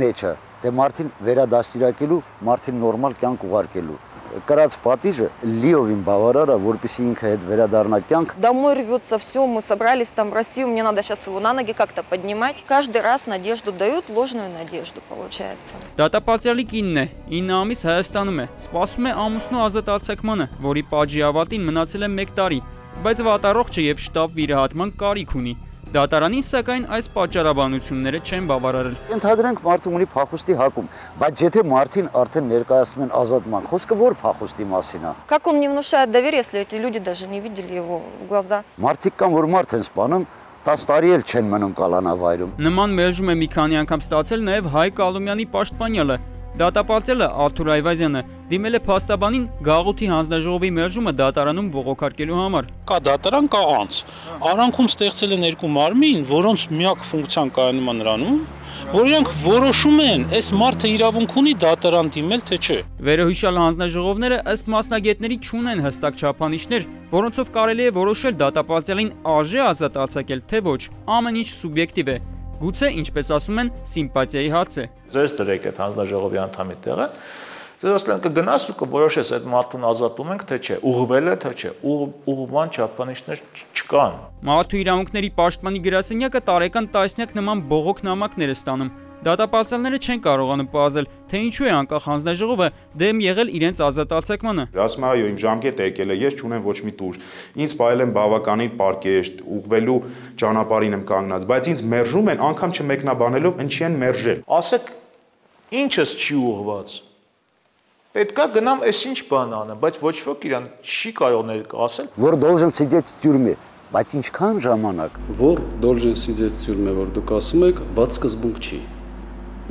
մեջ է, թե մարդին վերադաստիարակելու, մարդին նորմալ կյանք ուղարկելու։ Կրած պատիժը լիովին բավարար է, որպեսզի ինքը հետ վերադառնա կյանք։ Домой рвется все, мы собрались там в Россию, мне надо сейчас его на ноги как-то поднимать. Каждый раз надежду дают, ложную надежду получается։ Դատապարտյալի կինն է, 9 ամիս Հայաստանում է, սպասում է ամուսնու ազատ արձակմանը, որի պատժի ավարտին մնացել է 1 տարի, բայց վատառողջ է եւ շտապ վիրահատման կարիք ունի։ Դատարանին սակայն այս պատճառաբանությունները չեն բավարարել։ Ընդհանրենք մարդը ունի փախուստի հակում, բայց եթե մարդին արդեն ներկայացնում են ազատման, խոսքը որ փախուստի մասին է։ Как он не внушает доверия, если эти люди даже не видели его в глаза։ Մարդիկ կան, որ մարդ են սպանում, 10 տարի էլ չեն մնում կալանավայրում։ Նման մերժում է մի քանի անգամ ստացել նաև Հայկ Ալումյանի պաշտպանյալը։ Դատապարտյալը Արթուր Այվազյանը դիմել է փաստաբանին գաղութի հանձնաժողովի մերժումը դատարանում բողոքարկելու համար։ Կա դատարան, կա անձ։ Արանքում ստեղծել են 2 մարմին, որոնց միակ ֆունկցիան կայանում է նրանում, որ իրենք որոշում են, այս մարդը իրավունք ունի դատարան դիմել, թե չէ։ Վերոհիշյալ հանձնաժողովները ըստ մասնագետների չունեն հստակ չափանիշներ, որոնցով կարելի է որոշել դատապարտյալին արժե ազատ արձակել, թե ոչ։ Ամեն ինչ սուբյեկտիվ է։ Գուցե, ինչպես ասում են, սիմպաթիայի հարց է։ Ձեզ դրեք այդ հանձնաժողովի անդամի տեղը, ձեզ ասեն կգնաս ու կորոշես այդ մարդուն ազատում ենք, թե չէ, ուղղվել է, թե չէ, ուղղման չափանիշներ չկան։ Մարդու իրավունքների պաշտպանի գրասենյակը տարեկան տասնյակ նման բողոք նամակներ է ստանում։ Դատապարտյալները չեն կարողանում պարզել, թե ինչու է անկախ հանձնաժողովը դեմ եղել իրենց ազատ արձակմանը։ Ասում այո, իմ ժամկետը եկել է, ես չունեմ ոչ մի տուր։ Ինձ պահել են բավականին պարկեշտ, ուղղվելու ճանապարհին եմ կանգնած, բայց ինձ մերժում են, անգամ չմեկնաբանելով ինչի են մերժել։ Ասեք, ինչս չի ուղղված։ Պետքա գնամ այս ինչ բան անեմ, բայց ոչ ոք իրան չի կարող ներկայացել։ Որ должен сидеть в тюрьме, բայց ինչքան ժամանակ։ Որ должен сидеть в тюрьме, որ դուք ասում եք, բաց սկզբունք չի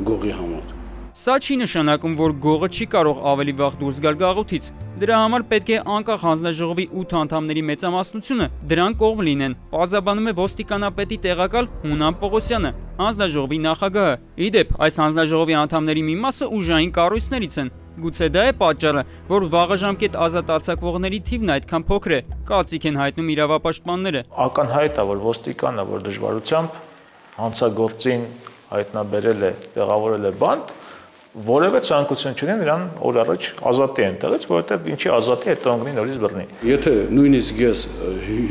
գողի համար։ Սա չի նշանակում, որ գողը չի կարող ավելի վաղ դուրս գալ գաղութից։ Դրա համար պետք է անկախ հանձնաժողովի 8 անդամների մեծամասնությունը դրան կողմ լինեն։ Պարզաբանում է ոստիկանապետի տեղակալ Հունան Պողոսյանը, հանձնաժողովի նախագահը։ Իդեպ, այս հանձնաժողովի անդամների մի մասը ուժային կառույցներից են։ Գուցե դա է պատճառը, որ վաղաժամկետ ազատ արձակվողների թիվն այդքան փոքր է, կարծիք են հայտնում իրավապաշտպանները։ Ակնհայտ է, որ ոստիկանը, որ դժվարությամբ հանցագործին հայտնաբերել է, տեղավորել է բանտ, որևէ ցանկություն չունեն նրան օր առաջ ազատի այնտեղից, որովհետև ինչի ազատի հետո անգնի նորից բռնի։ Եթե նույնիսկ ես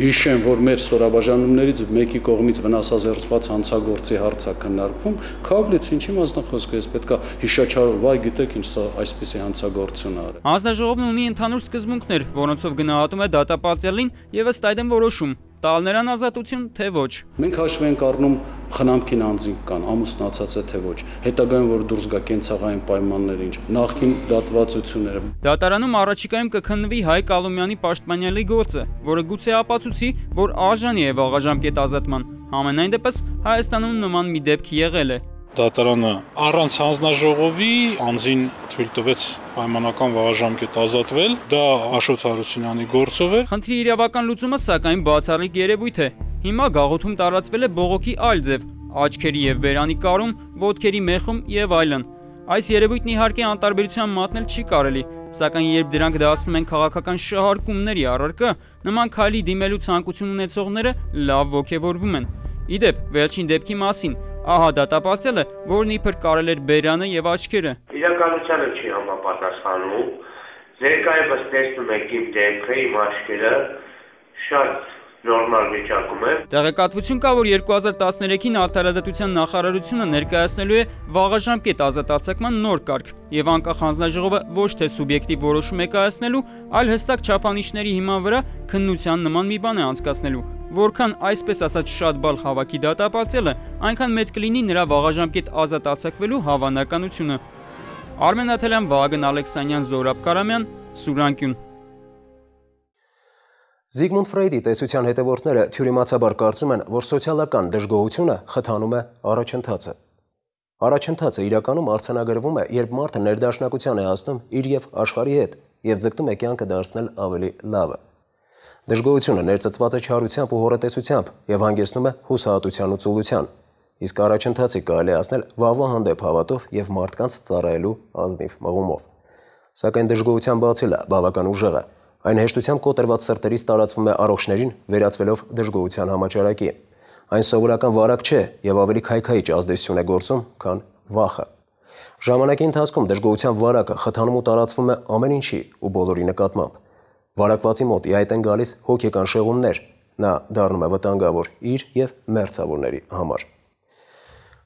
հիշեմ, որ մեր ստորաբաժանումներից մեկի կողմից վնասազերծված հանցագործի հարց է քննարկվում, քավլից ինչի մասնախոսք է, ես պետքա հիշաչարով, վայ գիտեք ինչ սա այսպեսի հանցագործություն է արել։ Հանձնաժողովն ունի ընդհանուր սկզբունքներ, որոնցով գնահատում է դատապարտյալին եւ ըստ այդմ որոշում տալ նրան ազատություն, թե ոչ։ Մենք հաշվի ենք առնում խնամքին անձինք կան, ամուսնացած է թե ոչ, հետագայում որ դուրս գա կենցաղային պայմաններ ինչ, նախկին դատվածությունները։ Դատարանում առաջիկայում կքննվի Հայկ Ալումյանի պաշտպանյալի գործը, որը գուցե ապացուցի, որ արժանի է վաղաժամկետ ազատման։ Համենայն դեպս Հայաստանում նման մի դեպք եղել է։ Դատարանը առանց հանձնաժողովի անձին թույլ տվեց պայմանական վաղաժամկետ ազատվել, դա Աշոտ Հարությունյանի գործով էր։ Խնդրի իրավական լուծումը սակայն բացառիկ երևույթ է։ Հիմա գաղութում տարածվել է բողոքի այլ ձև՝ աչքերի եւ բերանի կարում, ոտքերի մեխում եւ այլն։ Այս երևույթն իհարկե անտարբերության մատնել չի կարելի, սակայն երբ դրանք դասնում են քաղաքական շահարկումների առարկա, նման քայլի դիմելու ցանկություն ունեցողները լավ ոգևորվում են։ Իդեպ, վերջին դեպքի մասին ահա դատապարտյալը, որն իբր կարել էր բերանը եւ աչքերը։ Իրականությանը չի համապատասխանում։ Ներկայումս տեսնում եք իմ դեմքը, իմ աչքերը, շատ նորմալ վիճակում է։ Տեղեկատվություն կա, որ 2013-ին Արդարադատության նախարարությունը ներկայացնելու է վաղաժամկետ ազատացման նոր կարգ եւ անկախ հանձնաժողովը ոչ թե սուբյեկտիվ որոշում է կայացնելու, այլ հստակ չափանիշների հիման վրա քննության նման մի բան է անցկացնելու։ Որքան այսպես ասած շատ բալ հավաքի դատապարտելը, այնքան մեծ կլինի նրա վաղաժամկետ ազատ արձակվելու հավանականությունը։ Արմեն Աթելյան, Վահագն Ալեքսանյան, Զորաբ Կարամյան, Սուրանկյուն։ Զիգմունդ Ֆրեյդի տեսության հետևորդները թյուրիմացաբար կարծում են, որ սոցիալական դժգոհությունը խթանում է առաջընթացը։ Առաջընթացը իրականում արձանագրվում է, երբ մարդը ներդաշնակության է հասնում իր եւ աշխարհի հետ եւ ձգտում է կյանքը դարձնել ավելի լավը։ Դժգոհությունը ներծծված է չարությամբ ու հորատեսությամբ եւ հանգեցնում է հուսահատության ու ծուլության, իսկ առաջընթացի կարելի ասնել վաղվա հանդեպ հավատով եւ մարդկանց ծառայելու ազնիվ մղումով։ Սակայն դժգոհության բացելը բավական ուժեղ է։ Այն հեշտությամբ կոտրված սրտերից տարածվում է առողջներին, վերածվելով դժգոհության համաճարակի։ Այն սովորական վարակ չէ եւ ավելի քայքայիչ ազդեցություն է գործում, քան վախը։ Ժամանակի ընթացքում դժգոհության վարակը խթանում ու տարածվում է ամեն ինչի ու բոլորի նկատմամբ։ Վարակվածի մոտ ի հայտ են գալիս հոգեկան շեղումներ, նա դառնում է վտանգավոր իր եւ մերձավորների համար։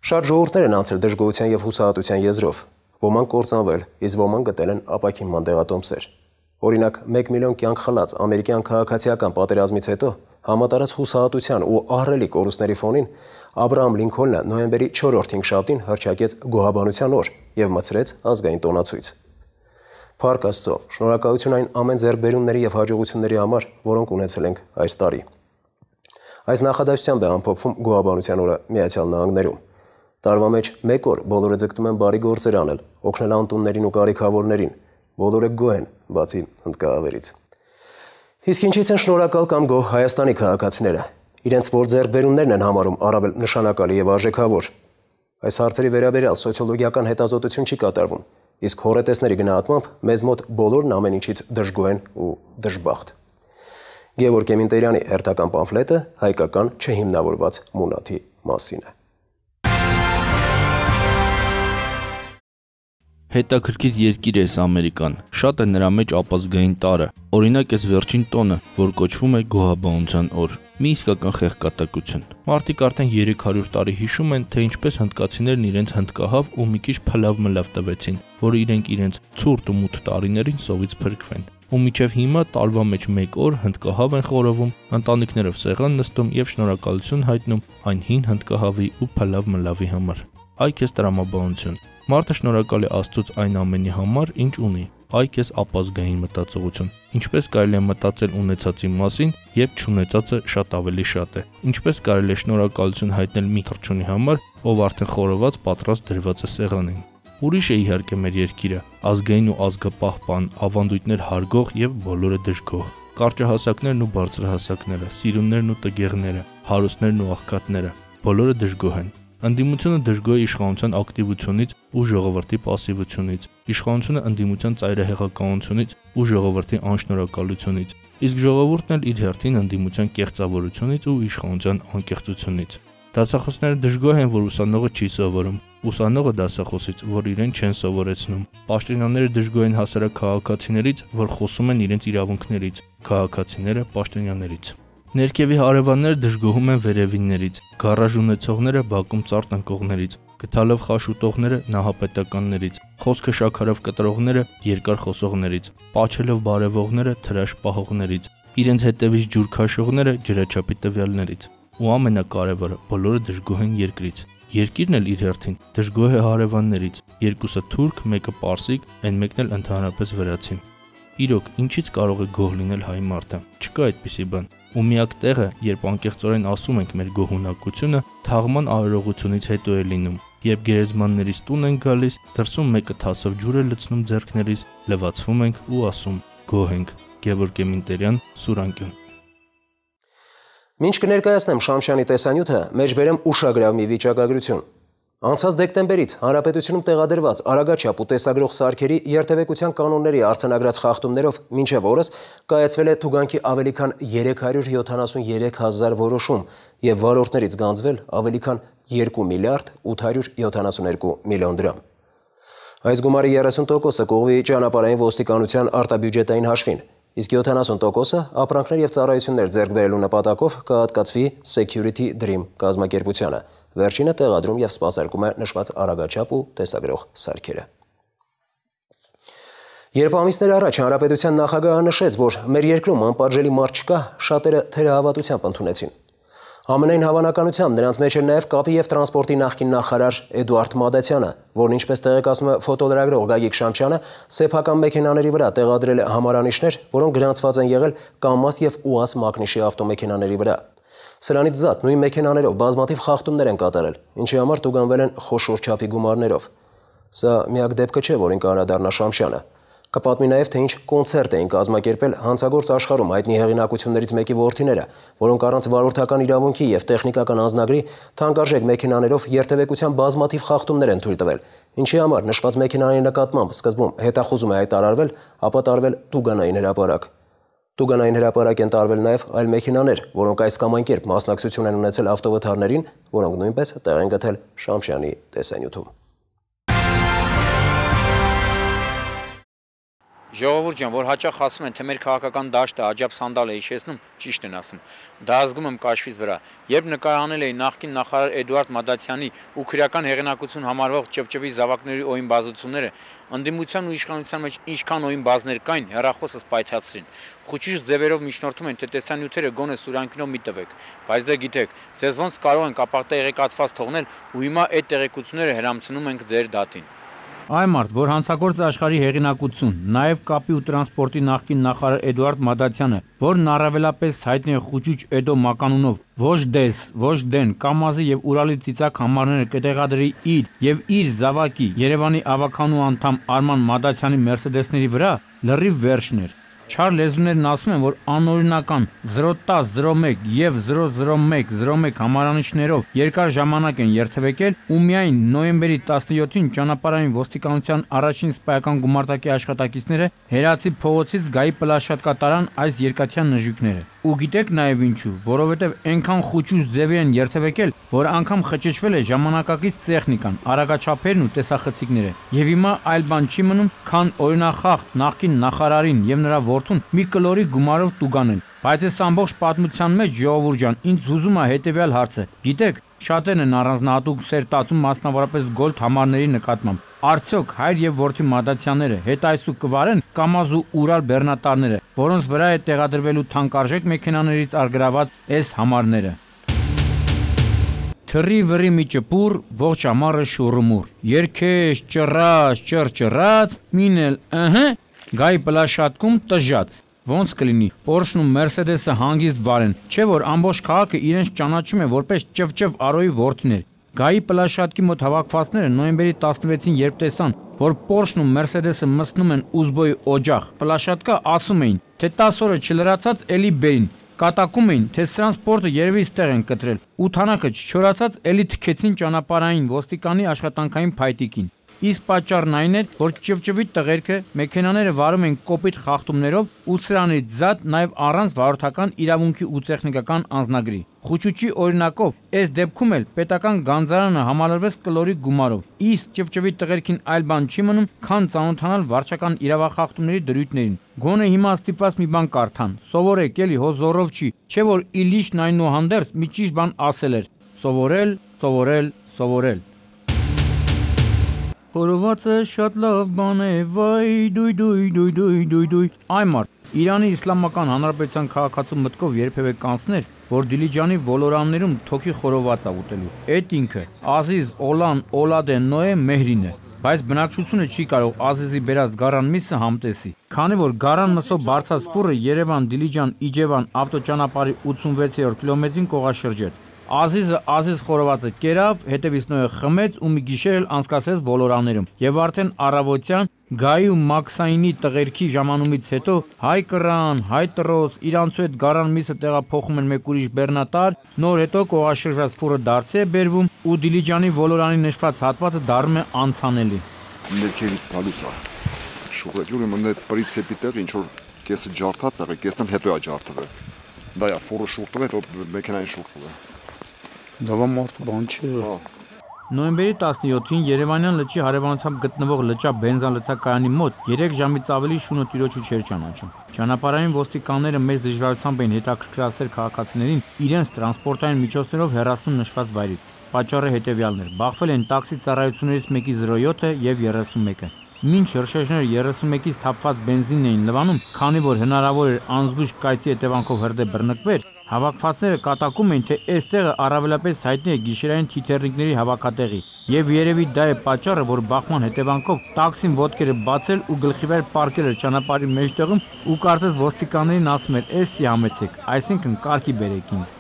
Շատ ժողովուրդներ են անցել դժգոհության եւ հուսահատության եզրով։ Ոմանք կործանվել, իսկ ոմանք գտել են ապակինման դեղատոմսեր։ Օրինակ, 1 միլիոն կյանք խլած ամերիկյան քաղաքացիական պատերազմից հետո համատարած հուսահատության ու ահռելի կորուստների ֆոնին Աբրահամ Լինքոլնը նոյեմբերի 4-րդ 5 շաբթին հռչակեց գոհաբանության օր եւ մցրեց ազգային տոնացույց։ Փառք Աստծո, շնորհակալություն այն ամեն ձեռքբերումների եւ հաջողությունների համար, որոնք ունեցել ենք այս տարի։ Այս նախադասությամբ է ամփոփվում գոհաբանության օրը Միացյալ Նահանգներում։ Տարվա մեջ 1 օր բոլորը ձգտում են բարի գործեր անել, օգնել անտուններին ու կարիքավորներին։ Բոլորը գոհ են, բացի հնդկահավերից։ Իսկ ինչից են շնորհակալ կամ գոհ Հայաստանի քաղաքացիները։ Իրենց որ ձեռքբերումներն են համարում առավել նշանակալի եւ արժեքավոր։ Այս հարցերի վերաբերյալ սոցիոլոգիական հետազոտություն չի կատարվում, իսկ հորետեսների գնահատմամբ մեզ մոտ բոլորն ամեն ինչից դժգոհ են ու դժբախտ։ Գևորգ Էմինտերյանի հերթական պամֆլետը հայկական չհիմնավորված մունաթի մասին է։ Հետաքրքիր երկիր է Ամերիկան, շատ է նրա մեջ ապազգային տարը, օրինակ այս վերջին տոնը, որ կոչվում է գոհաբանության օր, մի իսկական խեղկատակություն։ Մարդիկ արդեն 300 տարի հիշում են, թե ինչպես հնդկացիներն իրենց հնդկահավ ու մի քիչ փլավ-մլավ տվեցին, որ իրենք իրենց ցուրտ ու մութ տարիներին սովից փրկվեն։ Ու մինչև հիմա տարվա մեջ 1 օր հնդկահավ են խորովում, ընտանիքներով սեղան նստում եւ շնորհակալություն հայտնում այն հին հնդկահավի ու փլավ-մլավի համար։ Այ քեզ տրամաբանություն։ Մարդը շնորհակալ է Աստծուց այն ամենի համար, ինչ ունի։ Այ քեզ ապազգային մտածողություն։ Ինչպես կարելի է մտածել ունեցածի մասին, երբ չունեցածը շատ ավելի շատ է։ Ինչպես կարելի է շնորհակալություն հայտնել մի թռչունի համար, ով արդեն խորոված պատրաստ դրված է սեղանին։ Ուրիշ է իհարկե մեր երկիրը, ազգային ու ազգապահպան, ավանդույթներ հարգող եւ բոլորը դժգոհ։ Կարճահասակներն ու բարձրահասակները, սիրուններն ու տգեղները, հարուստներն ու աղքատները, բոլորը դժգոհ են։ Ընդդիմությունը դժգոհ է իշխանության ակտիվությունից ու ժողովրդի պասիվությունից, իշխանությունը ընդդիմության ծայրահեղականությունից ու ժողովրդի անշնորհակալությունից, իսկ ժողովուրդն էլ իր հերթին ընդդիմության կեղծավորությունից ու իշխանության անկեղծությունից։ Դասախոսները դժգոհ են, որ ուսանողը չի սովորում, ուսանողը դասախոսից, որ իրեն չեն սովորեցնում։ Պաշտոնյաները դժգոհ են հասարակ քաղաքացիներից, որ խոսում են իրենց իրավունքներից, քաղաքացիները պաշտոնյաներից։ Ներքևի հարևանները դժգոհում են վերևիններից, գարաժ ունեցողները բակում ծառ տնկողներից, գթալով խաշ ուտողները նահապետականներից, խոսքը շաքարով կտրողները երկար խոսողներից, պաչելով բարևողները թրաշ պահողներից, իրենց հետևից ջուր քաշողները ջրաչափի տվյալներից։ Ու ամենակարևորը, բոլորը դժգոհ են երկրից։ Երկիրն էլ իր հերթին դժգոհ է հարևաններից, երկուսը թուրք, մեկը պարսիկ, այն մեկն էլ ընդհանրապես վրացին։ Իրոք, ինչից կարող է գոհ լինել հայ մարդը։ Չկա այդպիսի բան։ Ու միակ տեղը, երբ անկեղծորեն ասում ենք մեր գոհունակությունը, թաղման արարողությունից հետո է լինում, երբ գերեզմաններից տուն են գալիս, դրսում մեկը թասով ջուր է լցնում ձեռքներից, լվացվում ենք ու ասում. գոհ ենք։ Գևորգ Էմինտերյան, Սուրանկյուն։ Մինչ կներկայացնեմ Շամշյանի տեսանյութը, մեջբերեմ ուշագրավ մի վիճակագրություն։ Անցած դեկտեմբերից հանրապետությունում տեղադրված արագաչափ ու տեսագրող սարքերի երթևեկության կանոնների արձանագրած խախտումներով մինչև օրս կայացվել է թուգանքի ավելի քան 373 հազար որոշում եւ վարորդներից գանձվել ավելի քան 2 միլիարդ 872 միլիոն դրամ։ Այս գումարի 30%-ը կողմի ճանապարհային ոստիկանության արտաբյուջետային հաշվին, իսկ 70%-ը ապրանքներ եւ ծառայություններ ձեռք բերելու նպատակով կհատկացվի Security Dream կազմակերպությանը։ Վերջինը տեղադրում եւ սպասարկում է նշված արագաչափ ու տեսագրող սարքերը։ Երբ ամիսներ առաջ Հանրապետության նախագահը նշեց, որ մեր երկրում անպատժելի մարդ չկա, շատերը թերահավատությամբ ընդունեցին։ Ամենայն հավանականությամբ նրանց մեջ էր նաև կապի եւ տրանսպորտի նախկին նախարար Էդուարդ Մադացյանը, որն ինչպես տեղեկացնում է ֆոտոլրագրող Գագիկ Շամչյանը, սեփական մեքենաների վրա տեղադրել է համարանիշներ, որոնք գրանցված են եղել ԿամԱԶ եւ ՈՒԱԶ մակնիշի ավտոմեքենաների վրա։ Սրանից զատ նույն մեքենաներով բազմաթիվ խախտումներ են կատարել, ինչի համար տուգանվել են խոշոր չափի գումարներով։ Սա միակ դեպքը չէ, որին կանրադառնա Շամչյանը։ Կպատմի նաև, թե ինչ կոնցերտ էին կազմակերպել հանցագործ աշխարհում հայտնի հեղինակություններից մեկի որդիները, որոնք առանց վարորդական իրավունքի եւ տեխնիկական անձնագրի թանկարժեք մեքենաներով երթևեկության բազմաթիվ խախտումներ են թույլ տվել, ինչի համար նշված մեքենաների նկատմամբ սկզբում հետախուզում է հայտարարվել, ապա տարվել տուգանային հրապարակ։ Տուգանային հրապարակ են տարվել նաև այլ մեքենաներ, որոնք այս կամ այն կերպ մասնակցություն են ունեցել ավտովթարներին, որոնք նույնպես տեղ են գտել Շամչյանի տեսանյութում։ Ժողովուրդ ջան, որ հաճախ ասում են, թե մեր քաղաքական դաշտը աջափ սանդալ է հիշեցնում, ճիշտ են ասում։ Դա ազգում եմ կաշվից վրա։ Երբ նկարանել էի նախկին նախարար Էդուարդ Մադացյանի ու քրեական հեղինակություն համարվող ճվճվի զավակների օյն բազությունները, ընդդիմության ու իշխանության մեջ ինչքան օյն բազներ կային, հեռախոսս պայթացրին։ Խուճիչ ձևերով միջնորդում են, թե տեսանյութերը գոնե Սուրյանքինով մի տվեք, բայց դե գիտեք, ձեզ ոնց կարող են կապակտեղեկացված թողնել ու հիմա այդ տեղեկությունները հրամցնում ենք ձեր դատին։ Այ մարդ, որ հանցագործ աշխարհի հեղինակություն, նաև կապի ու տրանսպորտի նախկին նախարար Էդուարդ Մադացյանը, որն առավելապես հայտնի է խուճուճ Էդո մականունով, ոչ դես, ոչ դեն, ԿամԱԶ-ի եւ Ուրալի ծիծակ համարները կտեղադրի իր եւ իր զավակի Երևանի ավականու անդամ Արման Մադացյանի Մերսեդեսների վրա, լրիվ վերջն էր։ Չար լեզուներն ասում են, որ անօրինական 010, 01 եւ 001, 01 համարանիշներով երկար ժամանակ են երթևեկել ու միայն նոյեմբերի 17-ին ճանապարհային ոստիկանության առաջին սպայական գումարտակի աշխատակիցները Հերացի փողոցից Գայի պլաշատկա տարան այս երկաթյան նժույգները։ Ու գիտեք նաև ինչու, որովհետև այնքան խուճուճ ձևի են երթևեկել, որ անգամ խճճվել է ժամանակակից տեխնիկան, արագաչափերն ու տեսախցիկները։ Եվ հիմա այլ բան չի մնում, քան օրինախախտ նախկին նախարարին եւ նրա որդուն մի կլորի գումարով տուգանել։ Բայց այս ամբողջ պատմության մեջ ժողովուրդ ջան, ինձ հուզում է հետեւյալ հարցը։ Գիտեք, շատերն են առանձնահատուկ սեր տածում մասնավորապես գոլդ համարների նկատմամբ։ Արդյոք հայր եւ որդի Մադացյանները հետ այսու կվարեն ԿամԱԶ ու Ուրալ բեռնատարները, որոնց վրա է տեղադրվելու թանկարժեք մեքենաներից արգրաված այս համարները։ Թռի վրի մի ճպուր, ողջ ամառը շուռումուռ։ Երկեշ, ճռած, ճռճռած, մինել, Գայի պլաշատկում տժած։ Ոնց կլինի, Porsche-ն ու Mercedes-ը հանգիստ վարեն, չէ որ ամբողջ քաղաքը իրենց ճանաչում է որպես ճվճվ Արոյի որդիներ։ Գայի պլաշատկի մոտ հավաքվածները նոյեմբերի 16-ին երբ տեսան, որ Porsche-ն ու Mercedes-ը մտնում են Ուզբոյի օջախ, պլաշատկա ասում էին, թե 10 օրը չլրացած էլի բերին, կատակում էին, թե սրանց սպորտը երևի ստեղ են կտրել, ու թանակը չչորացած էլի թքեցին ճանապարհային ոստիկանի աշխատանքային փայտիկին։ Իսկ պատճառն այն էր, որ ճվճվի տղերքը մեքենաները վարում են կոպիտ խախտումներով ու սրանից զատ նաև առանց վարորդական իրավունքի ու տեխնիկական անձնագրի։ Խուճուճի օրինակով, այս դեպքում էլ պետական գանձարանը համալրվեց կլորի գումարով։ Իսկ ճվճվի տղերքին այլ բան չի մնում, քան ծանոթանալ վարչական իրավախախտումների դրույթներին։ Գոնե հիմա ստիպված մի բան կարդան, սովորեք էլի հո զորով չի, չէ որ Իլիչն այնուհանդերձ մի ճիշտ բան ասել էր. սովորել, սովորել, սովորել։ Խորովածը շատ լավ բան է, վայ, դույ։ Այ մարդ, Իրանի Իսլամական Հանրապետության քաղաքացու մտքով երբևէ կանցներ, որ Դիլիջանի ոլորաններում թոքի խորոված է ուտելու։ Այդ ինքը Ազիզ Օլան Օլադե Նոե Մեհրին է, բայց բնակչությունը չի կարող Ազիզի բերած գարան միսը համտեսի, քանի որ գարան մսով բարձած ֆուրը Երևան-Դիլիջան Իջևան ավտոճանապարհի 86-րդ կիլոմետրին կողաշրջեց։ Ազիզը Ազիզ խորովածը կերավ, հետևից նոյը խմեց ու մի գիշեր էլ անցկացրեց ոլորաններում։ Եվ արդեն առավոտյան Գայի ու Մաքսայինի տղերքի ժամանումից հետո հայ կռան, հայ տրոս, իրանցու հետ գարան միսը տեղափոխում են մեկ ուրիշ բեռնատար, նոր հետո կողաշրջած ֆուրը դարձի է բերվում ու Դիլիջանի ոլորանի նշված հատվածը դառնում է անցանելի։ Ներքևից գալուց է։ Շուղեջուրը մնա պրինցիպի տեղ ինչ որ կեսը ջարդած է, կեսն հետո է ջարդվել։ Դա է ֆուրը շուրտվել, հետո մեքենային շուրտվել։ Դա մարդ բան չէ։ Նոյեմբերի 17-ին Երևանյան լճի հարևանությամբ գտնվող լճա բենզալցակայանի մոտ 3 ժամից ավելի շունը տիրոջը չէր ճանաչում։ Ճանապարհային ոստիկանները մեծ դժվարությամբ էին հետաքրքրասեր քաղաքացիներին իրենց տրանսպորտային միջոցներով հեռացնում նշված վայրից։ Պատճառը հետևյալն էր. բախվել են տաքսի ծառայություններից մեկի 07-ը եւ 31-ը։ Մինչ հրշեջները 31-ից թափված բենզինն էին լվանում, քանի որ հնարավոր էր անզգույշ կայծի հետևանքով հրդեհ բռնկվեր, հավաքվածները կատակում էին, թե այս տեղը առավելապես հայտնի է գիշերային թիթեռնիկների հավաքատեղի։ Եվ երևի դա է պատճառը, որ բախման հետևանքով տաքսին ոտքերը բացել ու գլխիվեր պարկել էր ճանապարհի մեջտեղում ու կարծես ոստիկաններին ասում էր՝ «Էս տի համեցեք», այսինքն կարգի բերեք ինձ։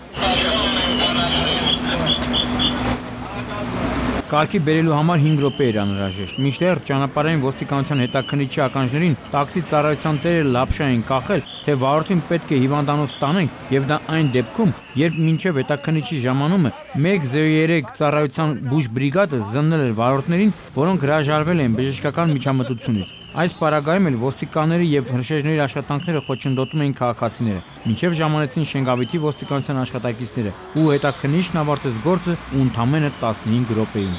Կարգի բերելու համար 5 րոպե էր անհրաժեշտ։ Մինչդեռ ճանապարհային ոստիկանության հետաքննիչի ականջներին տաքսի ծառայության տերերը լապշա էին կախել, թե վարորդին պետք է հիվանդանոց տանենք, եւ դա այն դեպքում, երբ մինչև հետաքննիչի ժամանումը 103 ծառայության բուժ բրիգադը զննել էր վարորդներին, որոնք հրաժարվել էին բժշկական միջամտությունից։ Այս պարագայում էլ ոստիկանների եւ հրշեջների աշխատանքները խոչընդոտում էին քաղաքացիները։ Մինչև ժամանեցին Շենգավիթի ոստիկանության աշխատակիցները ու հետաքննիչն ավարտեց գործը ու ընդամենը 15 րոպեին։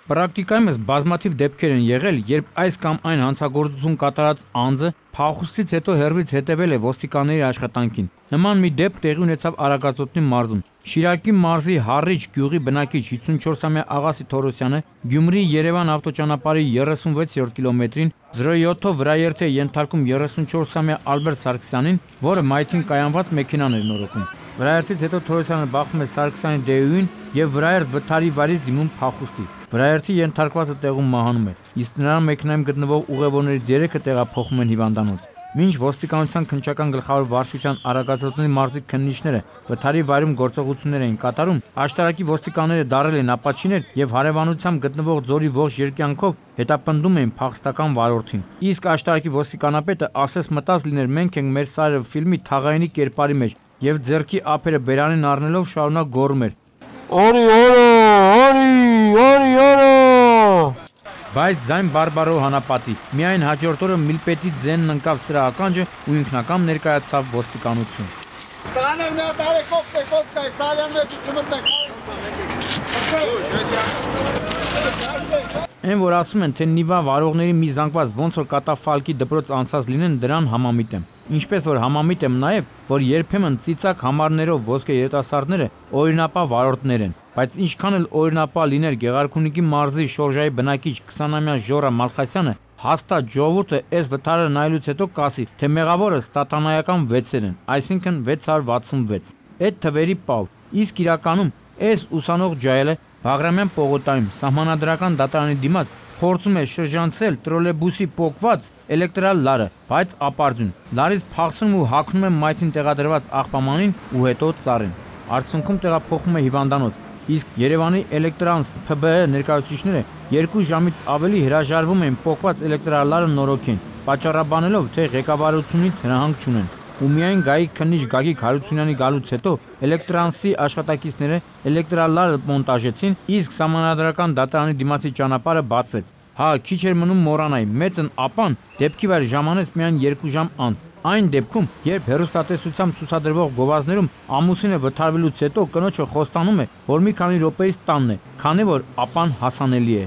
Պրակտիկայումս բազմաթիվ դեպքեր են եղել, երբ այս կամ այն հանցագործություն կատարած անձը փախուստից հետո հեռվից հետևել է ոստիկանների աշխատանքին։ Նման մի դեպք տեղի ունեցավ Արագածոտնի մարզում։ Շիրակի մարզի Հառիչ գյուղի բնակիչ 54-ամյա Աղասի Թորոսյանը Գյումրի-Երևան ավտոճանապարհի 36-րդ կիլոմետրին 07-ով վրաերթ է ենթարկում 34-ամյա Ալբերտ Սարգսյանին, որը մայթին կայանված մեքենան էր նորոգում։ Վրաերթից հետո Թորոսյանը բախվում է Սարգսյանի դեյուին եւ վրաերթ վթարի վարից դիմում փախուստի։ Վրաերթի ենթարկվածը տեղում մահանում է, իսկ նրա մեքենայում գտնվող ուղևորներից 3-ը տեղափոխվում են հիվանդանոց։ Մինչ ոստիկանության քննչական գլխավոր վարչության Արագածոտնի մարզի քննիչները վթարի վայրում գործողություններ էին կատարում, աշտարակի ոստիկանները դարել են ապաչիներ եւ հարևանությամբ գտնվող ձորի ողջ երկյանքով հետապնդում էին փախստական վարորդին։ Իսկ աշտարակի ոստիկանապետը ասես մտած լիներ մենք ենք մեր սարը ֆիլմի թաղայինի կերպարի մեջ եւ ձեռքի ափերը բերանին առնելով շարունակ գոռում էր. «Օրի, Բայց ձայն բարբարով հանապատի։ Միայն հաջորդ օրը Միլպետի ձենն ընկավ սրա ականջը ու ինքնակամ ներկայացավ ոստիկանություն։ Այն որ ասում են, թե Նիվա վարողների մի զանգված ոնց որ կատաֆալկի դպրոց անցած լինեն, դրան համամիտ եմ։ Ինչպես որ համամիտ եմ նաև, որ երբեմն ծիծակ համարներով ոսկե երիտասարդները օրինապա վարորդներ են, բայց ինչքան էլ օրինապա լիներ Գեղարքունիքի մարզի Շորժայի բնակիչ 20-ամյա Ժորա Մալխասյանը, հաստատ ժողովուրդը այս վթարը նայելուց հետո կասի, թե մեղավորը ստատանայական 6-եր են, այսինքն 666։ Այդ թվերի պավ, իսկ իրականում այս ուսանող ջայելը Բաղրամյան պողոտայում սահմանադրական դատարանի դիմաց փորձում է շրջանցել տրոլեյբուսի պոկված էլեկտրալ լարը, բայց ապարդյուն։ Լարից փախցնում ու հագնում է մայթին տեղադրված աղբամանին ու հետո ծառին։ Արդյունքում տեղափոխվում է հիվանդանոց, իսկ Երևանի Էլեկտրանս ՓԲ ներկայացուցիչները 2 ժամից ավելի հրաժարվում են պոկված էլեկտրալ լարը նորոգեն, պատճառաբանելով, թե ղեկավարությունից հրահանգ չունեն։ Ու միայն գայի քննիչ Գագիկ Հարությունյանի գալուց հետո Էլեկտրանսի աշխատակիցները էլեկտրալարը մոնտաժեցին, իսկ սահմանադրական դատարանի դիմացի ճանապարհը բացվեց։ Հա, քիչ էր մնում մոռանայի, մեծն ապան դեպքի վայր ժամանեց միայն 2 ժամ անց։ Այն դեպքում, երբ հեռուստատեսությամբ ցուցադրվող գովազդներում ամուսինը վթարվելուց հետո կնոջը խոստանում է, որ մի քանի րոպեից տանն է, քանի որ ապան հասանելի է։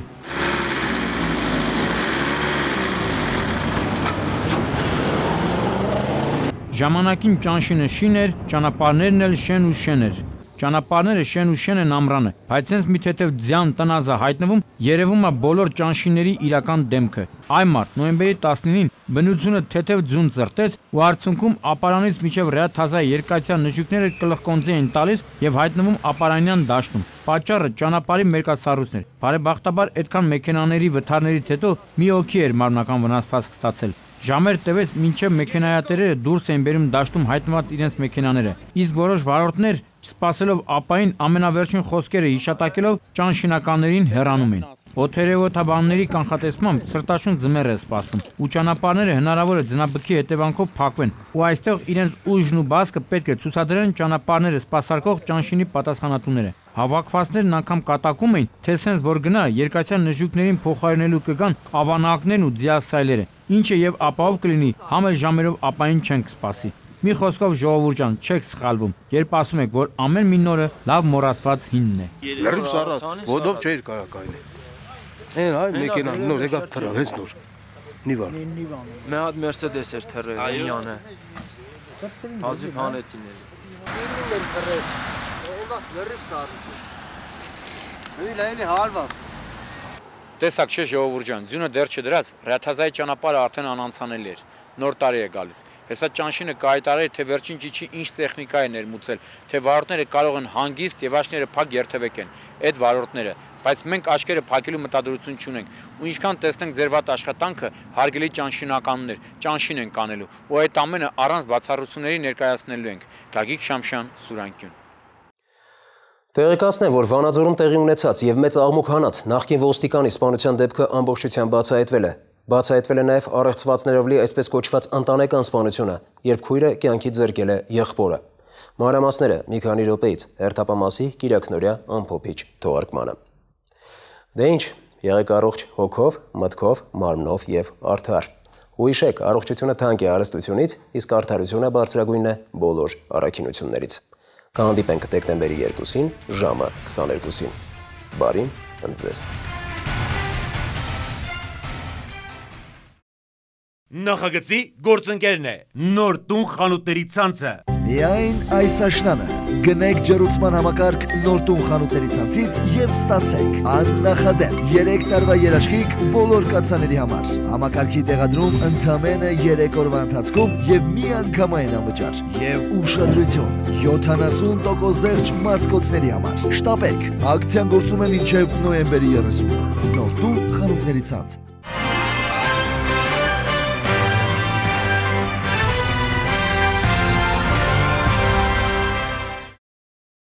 Ժամանակին ճանշինը շին էր, ճանապարհներն էլ շեն ու շեն էր։ Ճանապարհները շեն ու շեն են ամռանը, բայց հենց մի թեթև ձյան տնազը հայտնվում, երևում է բոլոր ճանշինների իրական դեմքը։ Այ մարդ, նոյեմբերի 19-ին բնությունը թեթև ձուն ծրտեց ու արդյունքում ապարանից միջև Ռեաթազայի երկաթյա նժույգները կլխկոնձի են տալիս եւ հայտնվում ապարանյան դաշտում։ Պատճառը ճանապարհի մերկասառույցն էր։ Բարեբախտաբար այդքան մեքենաների վթարներից հետո մի օքի էր մարմնական վնասվածք ստացել։ Ժամեր տևեց, մինչև մեքենայատերերը դուրս էին բերում դաշտում հայտնված իրենց մեքենաները, իսկ որոշ վարորդներ, սպասելով ապային ամենավերջին խոսքերը հիշատակելով, ճանշինականներին հեռանում են։ Օթերևոթաբանների կանխատեսմամբ սրտաշուն ձմեռ է սպասում, ու ճանապարհները հնարավոր է ձնաբքի հետևանքով փակվեն, ու այստեղ իրենց ուժն ու բազկը պետք է ցուցադրեն ճանապարհները սպասարկող ճանշինի պատասխանատուները։ Հավաքվածներն անգամ կատակում էին, թե սենց որ գնա երկաթյա նժույգներին փոխարինելու կգան ավանակներն ու դիասայլերը, ինչը եւ ապահով կլինի, համ էլ ժամերով ապային չենք սպասի։ Մի խոսքով ժողովուրդ ջան, չեք սխալվում, երբ ասում եք, որ ամեն մի նորը լավ մոռացված հինն է։ Լրիվ սառած, ոտով չէր կարող կայնել։ Այն այ մեքենան նոր եկավ թռավ, հենց նոր։ Նիվան։ Մի հատ Mercedes էր թռել, ինյանը։ Հազիվ հանեցին։ Լրիվ սառած։ Լայնի հարված։ Տեսակ չէ ժողովուրդ ջան, ձյունը դեռ չդրած, Ռաթազայի ճանապարհը արդեն անանցանելի էր։ Նոր տարի է գալիս։ Հեսա ճանշինը կայտարել, թե վերջին ճիչի ինչ տեխնիկա է ներմուծել, թե վարորդները կարող են հանգիստ եւ աչքները փակ երթևեկեն։ Այդ վարորդները, բայց մենք աչքերը փակելու մտադրություն չունենք։ Ու ինչքան տեսնենք ձեր վատ աշխատանքը, հարգելի ճանշինականներ, ճանշին են կանելու, ու այդ ամենը առանց բացառությունների ներկայացնելու ենք։ Գագիկ Շամշյան, Սուրանկյուն։ Տեղեկացնեմ, որ Վանաձորում տեղի ունեցած եւ մեծ աղմուկ հանած նախկին ոստիկանի սպանության դեպքը ամբողջությամբ բացահայտվել է։ Բացահայտվել է նաև առեղծվածներով լի այսպես կոչված ընտանեկան սպանությունը, երբ քույրը կյանքից զրկել է եղբորը։ Մանրամասները մի քանի րոպեից հերթապամասի Կիրակնորյա ամփոփիչ թողարկմանը։ Դե ինչ, եղեք առողջ հոգով, մտքով, մարմնով եւ արդար։ Ու հիշեք, առողջությունը թանկ է հարստությունից, իսկ արդարությունը բարձրագույնն է բոլոր առաքինություններից։ Կհանդիպենք դեկտեմբերի 2-ին ժամը 22-ին։ Բարին ընձեզ։ Նախագծի գործընկերն է նոր տուն խանութների ցանցը։ Միայն այս աշնանը գնեք ջեռուցման համակարգ նոր տուն խանութների ցանցից եւ ստացեք աննախադեպ 3 տարվա երաշխիք բոլոր կացաների համար։ Համակարգի տեղադրում ընդամենը 3 օրվա ընթացքում եւ միանգամայն անվճար եւ ուշադրություն 70% զեղչ մարտկոցների համար։ Շտապեք, ակցիան գործում է մինչեւ նոյեմբերի 30-ը։ Նոր տուն խանութների ցանց։